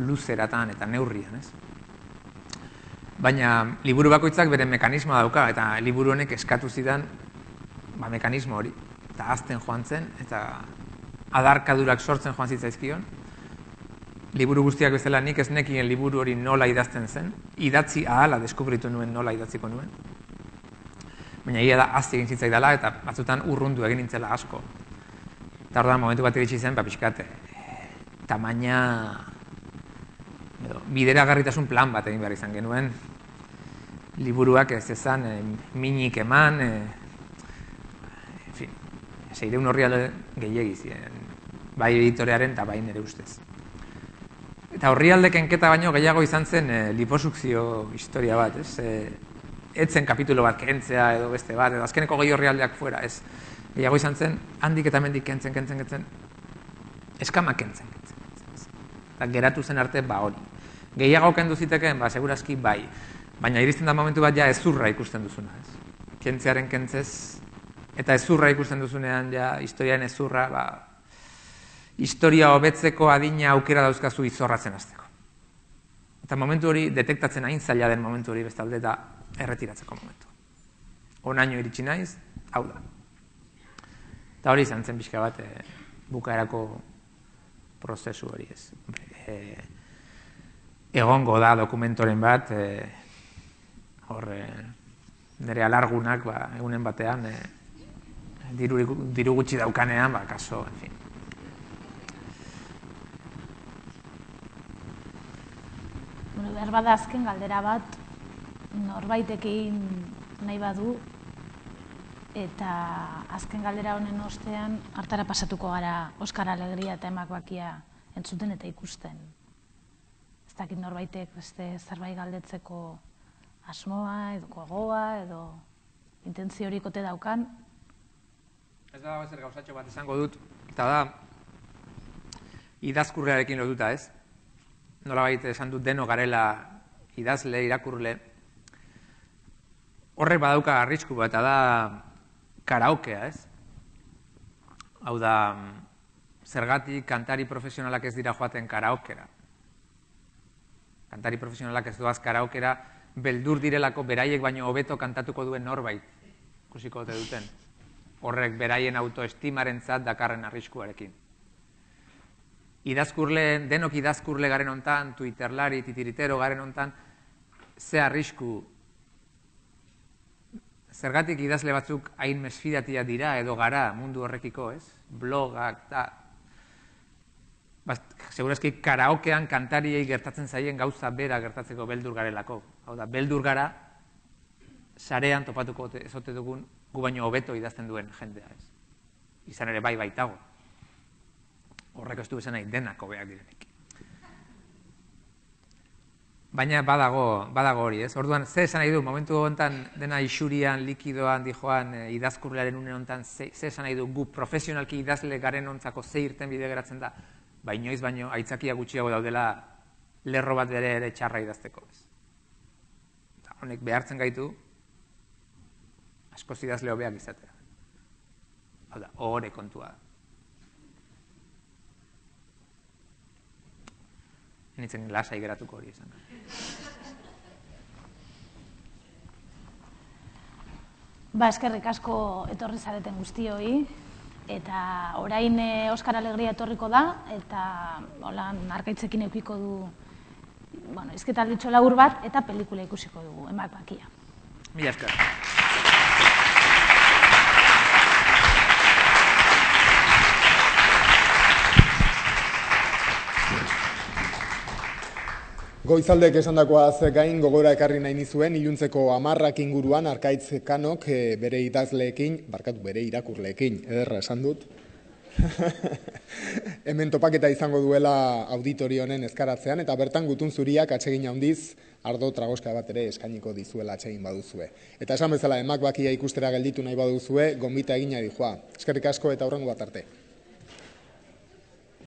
luzeratan eta neurrian, ez? Baina liburu bakoitzak bere mekanismoa dauka, eta liburu honek eskatu zidan ba, mekanismo hori. Eta azten joan zen, eta adarkadurak sortzen joan zitzaizkion. Liburu guztiak bezala nik ez nekien liburu hori nola idazten zen, idatzi ahala deskubritu nuen nola idatziko nuen. Baina egia da azti egin zitzaidala eta batzutan urrundu egin nintzela asko. Eta orduan momentu bat iritsi zen, ba, pixkat, tamaina, edo, bideragarritasun plan bat egin behar izan genuen. Liburuak ez ezan, e, minik eman, e, en fin, seireun horri alde gehiegi ziren, bai editorearen eta bai nire ustez. Eta horri alde kenketa baino gehiago izan zen e, liposukzio historia bat, ez? E, etzen kapitulo bat kentzea edo beste bat, edo azkeneko gehi horri aldeak fuera, ez? Gehiago izan zen, handik eta mendik kentzen, kentzen, kentzen, eskama kentzen, kentzen, kentzen. Eta geratu zen arte, ba hori. Gehiago kendu zitekeen, ba, segurazki bai. Baina iristen da momentu bat ja ezurra ikusten duzuna, ez? Kentzearen kentzez, eta ezurra ikusten duzunean, ja, historiaren ezurra, ba, historia hobetzeko adina aukera dauzkazu izorratzen hasteko. Eta momentu hori detektatzen hain zaila den momentu hori bestalde da erretiratzeko momentu. Onaino iritsi naiz, hau da. Eta hori izan zen pixka bat e, bukaerako prozesu hori ez. E, egongo da dokumentoren bat, e, hor e, nire alargunak ba, egunen batean, e, diru, diru gutxi daukanean, ba, kaso, en fin. Bueno, behar bada azken galdera bat, norbaitekin nahi badu, eta azken galdera honen ostean hartara pasatuko gara Oskar Alegria eta Emak Bakia entzuten eta ikusten. Ez dakit norbaitek beste zerbait galdetzeko asmoa, edo gogoa, edo intentzio horik ote daukan. Ez da ezer gauzatxo bat esango dut, eta da idazkurrearekin lotuta, ez? Nolabait esan dut deno garela idazle, irakurle. Horrek badauka arrisku bat, eta da karaokea, ez? Hau da, zergatik kantari profesionalak ez dira joaten karaokera. Kantari profesionalak ez doaz karaokera, beldur direlako beraiek baino hobeto kantatuko duen norbait, ikusiko ote duten. Horrek beraien autoestimaren zat dakarren arriskuarekin. Idazkurle, denok idazkurle garen hontan, twitterlari, titiritero garen hontan, ze arrisku, zergatik idazle batzuk hain mesfidatia dira edo gara mundu horrekiko, ez? Blogak, eta... Segurazki karaokean kantariei gertatzen zaien gauza bera gertatzeko beldur garelako. Hau da, beldur gara, sarean topatuko ezote dugun gu baino hobeto idazten duen jendea, ez? Izan ere bai baitago. Horrek ez du esan nahi denak hobeak direnik. Baina badago, badago hori, ez? Orduan, ze esan nahi du, momentu honetan dena isurian, likidoan, dijoan, e, idazkurlearen une honetan, ze, ze esan nahi du, gu profesionalki idazle garen ontzako ze irten bide geratzen da, ba inoiz baino, aitzakia gutxiago daudela lerro bat bere ere txarra idazteko, ez? Eta honek behartzen gaitu, askoz idazle hobeak izatea. Hau da, ohore kontua da. Nitzen lasai geratuko hori izan. Ba, eskerrik asko etorri zareten guztioi, eta orain Oskar Alegria etorriko da, eta holan arkaitzekin eukiko du, bueno, izketalditxo labur bat, eta pelikula ikusiko dugu, Emak Bakia. Mila esker. Goizaldek esandakoaz gain gogora ekarri nahi nizuen, iluntzeko hamarrak inguruan Arkaitz Kanok e, bere idazleekin, barkatu bere irakurleekin, ederra esan dut. Hemen topaketa izango duela auditorio honen ezkaratzean, eta bertan Gutun Zuriak atsegin handiz ardo tragoska bat ere eskainiko dizuela atsegin baduzue. Eta esan bezala Emak Bakia ikustera gelditu nahi baduzue, gonbita egina dijoa. Eskerrik asko eta hurrengo bat arte.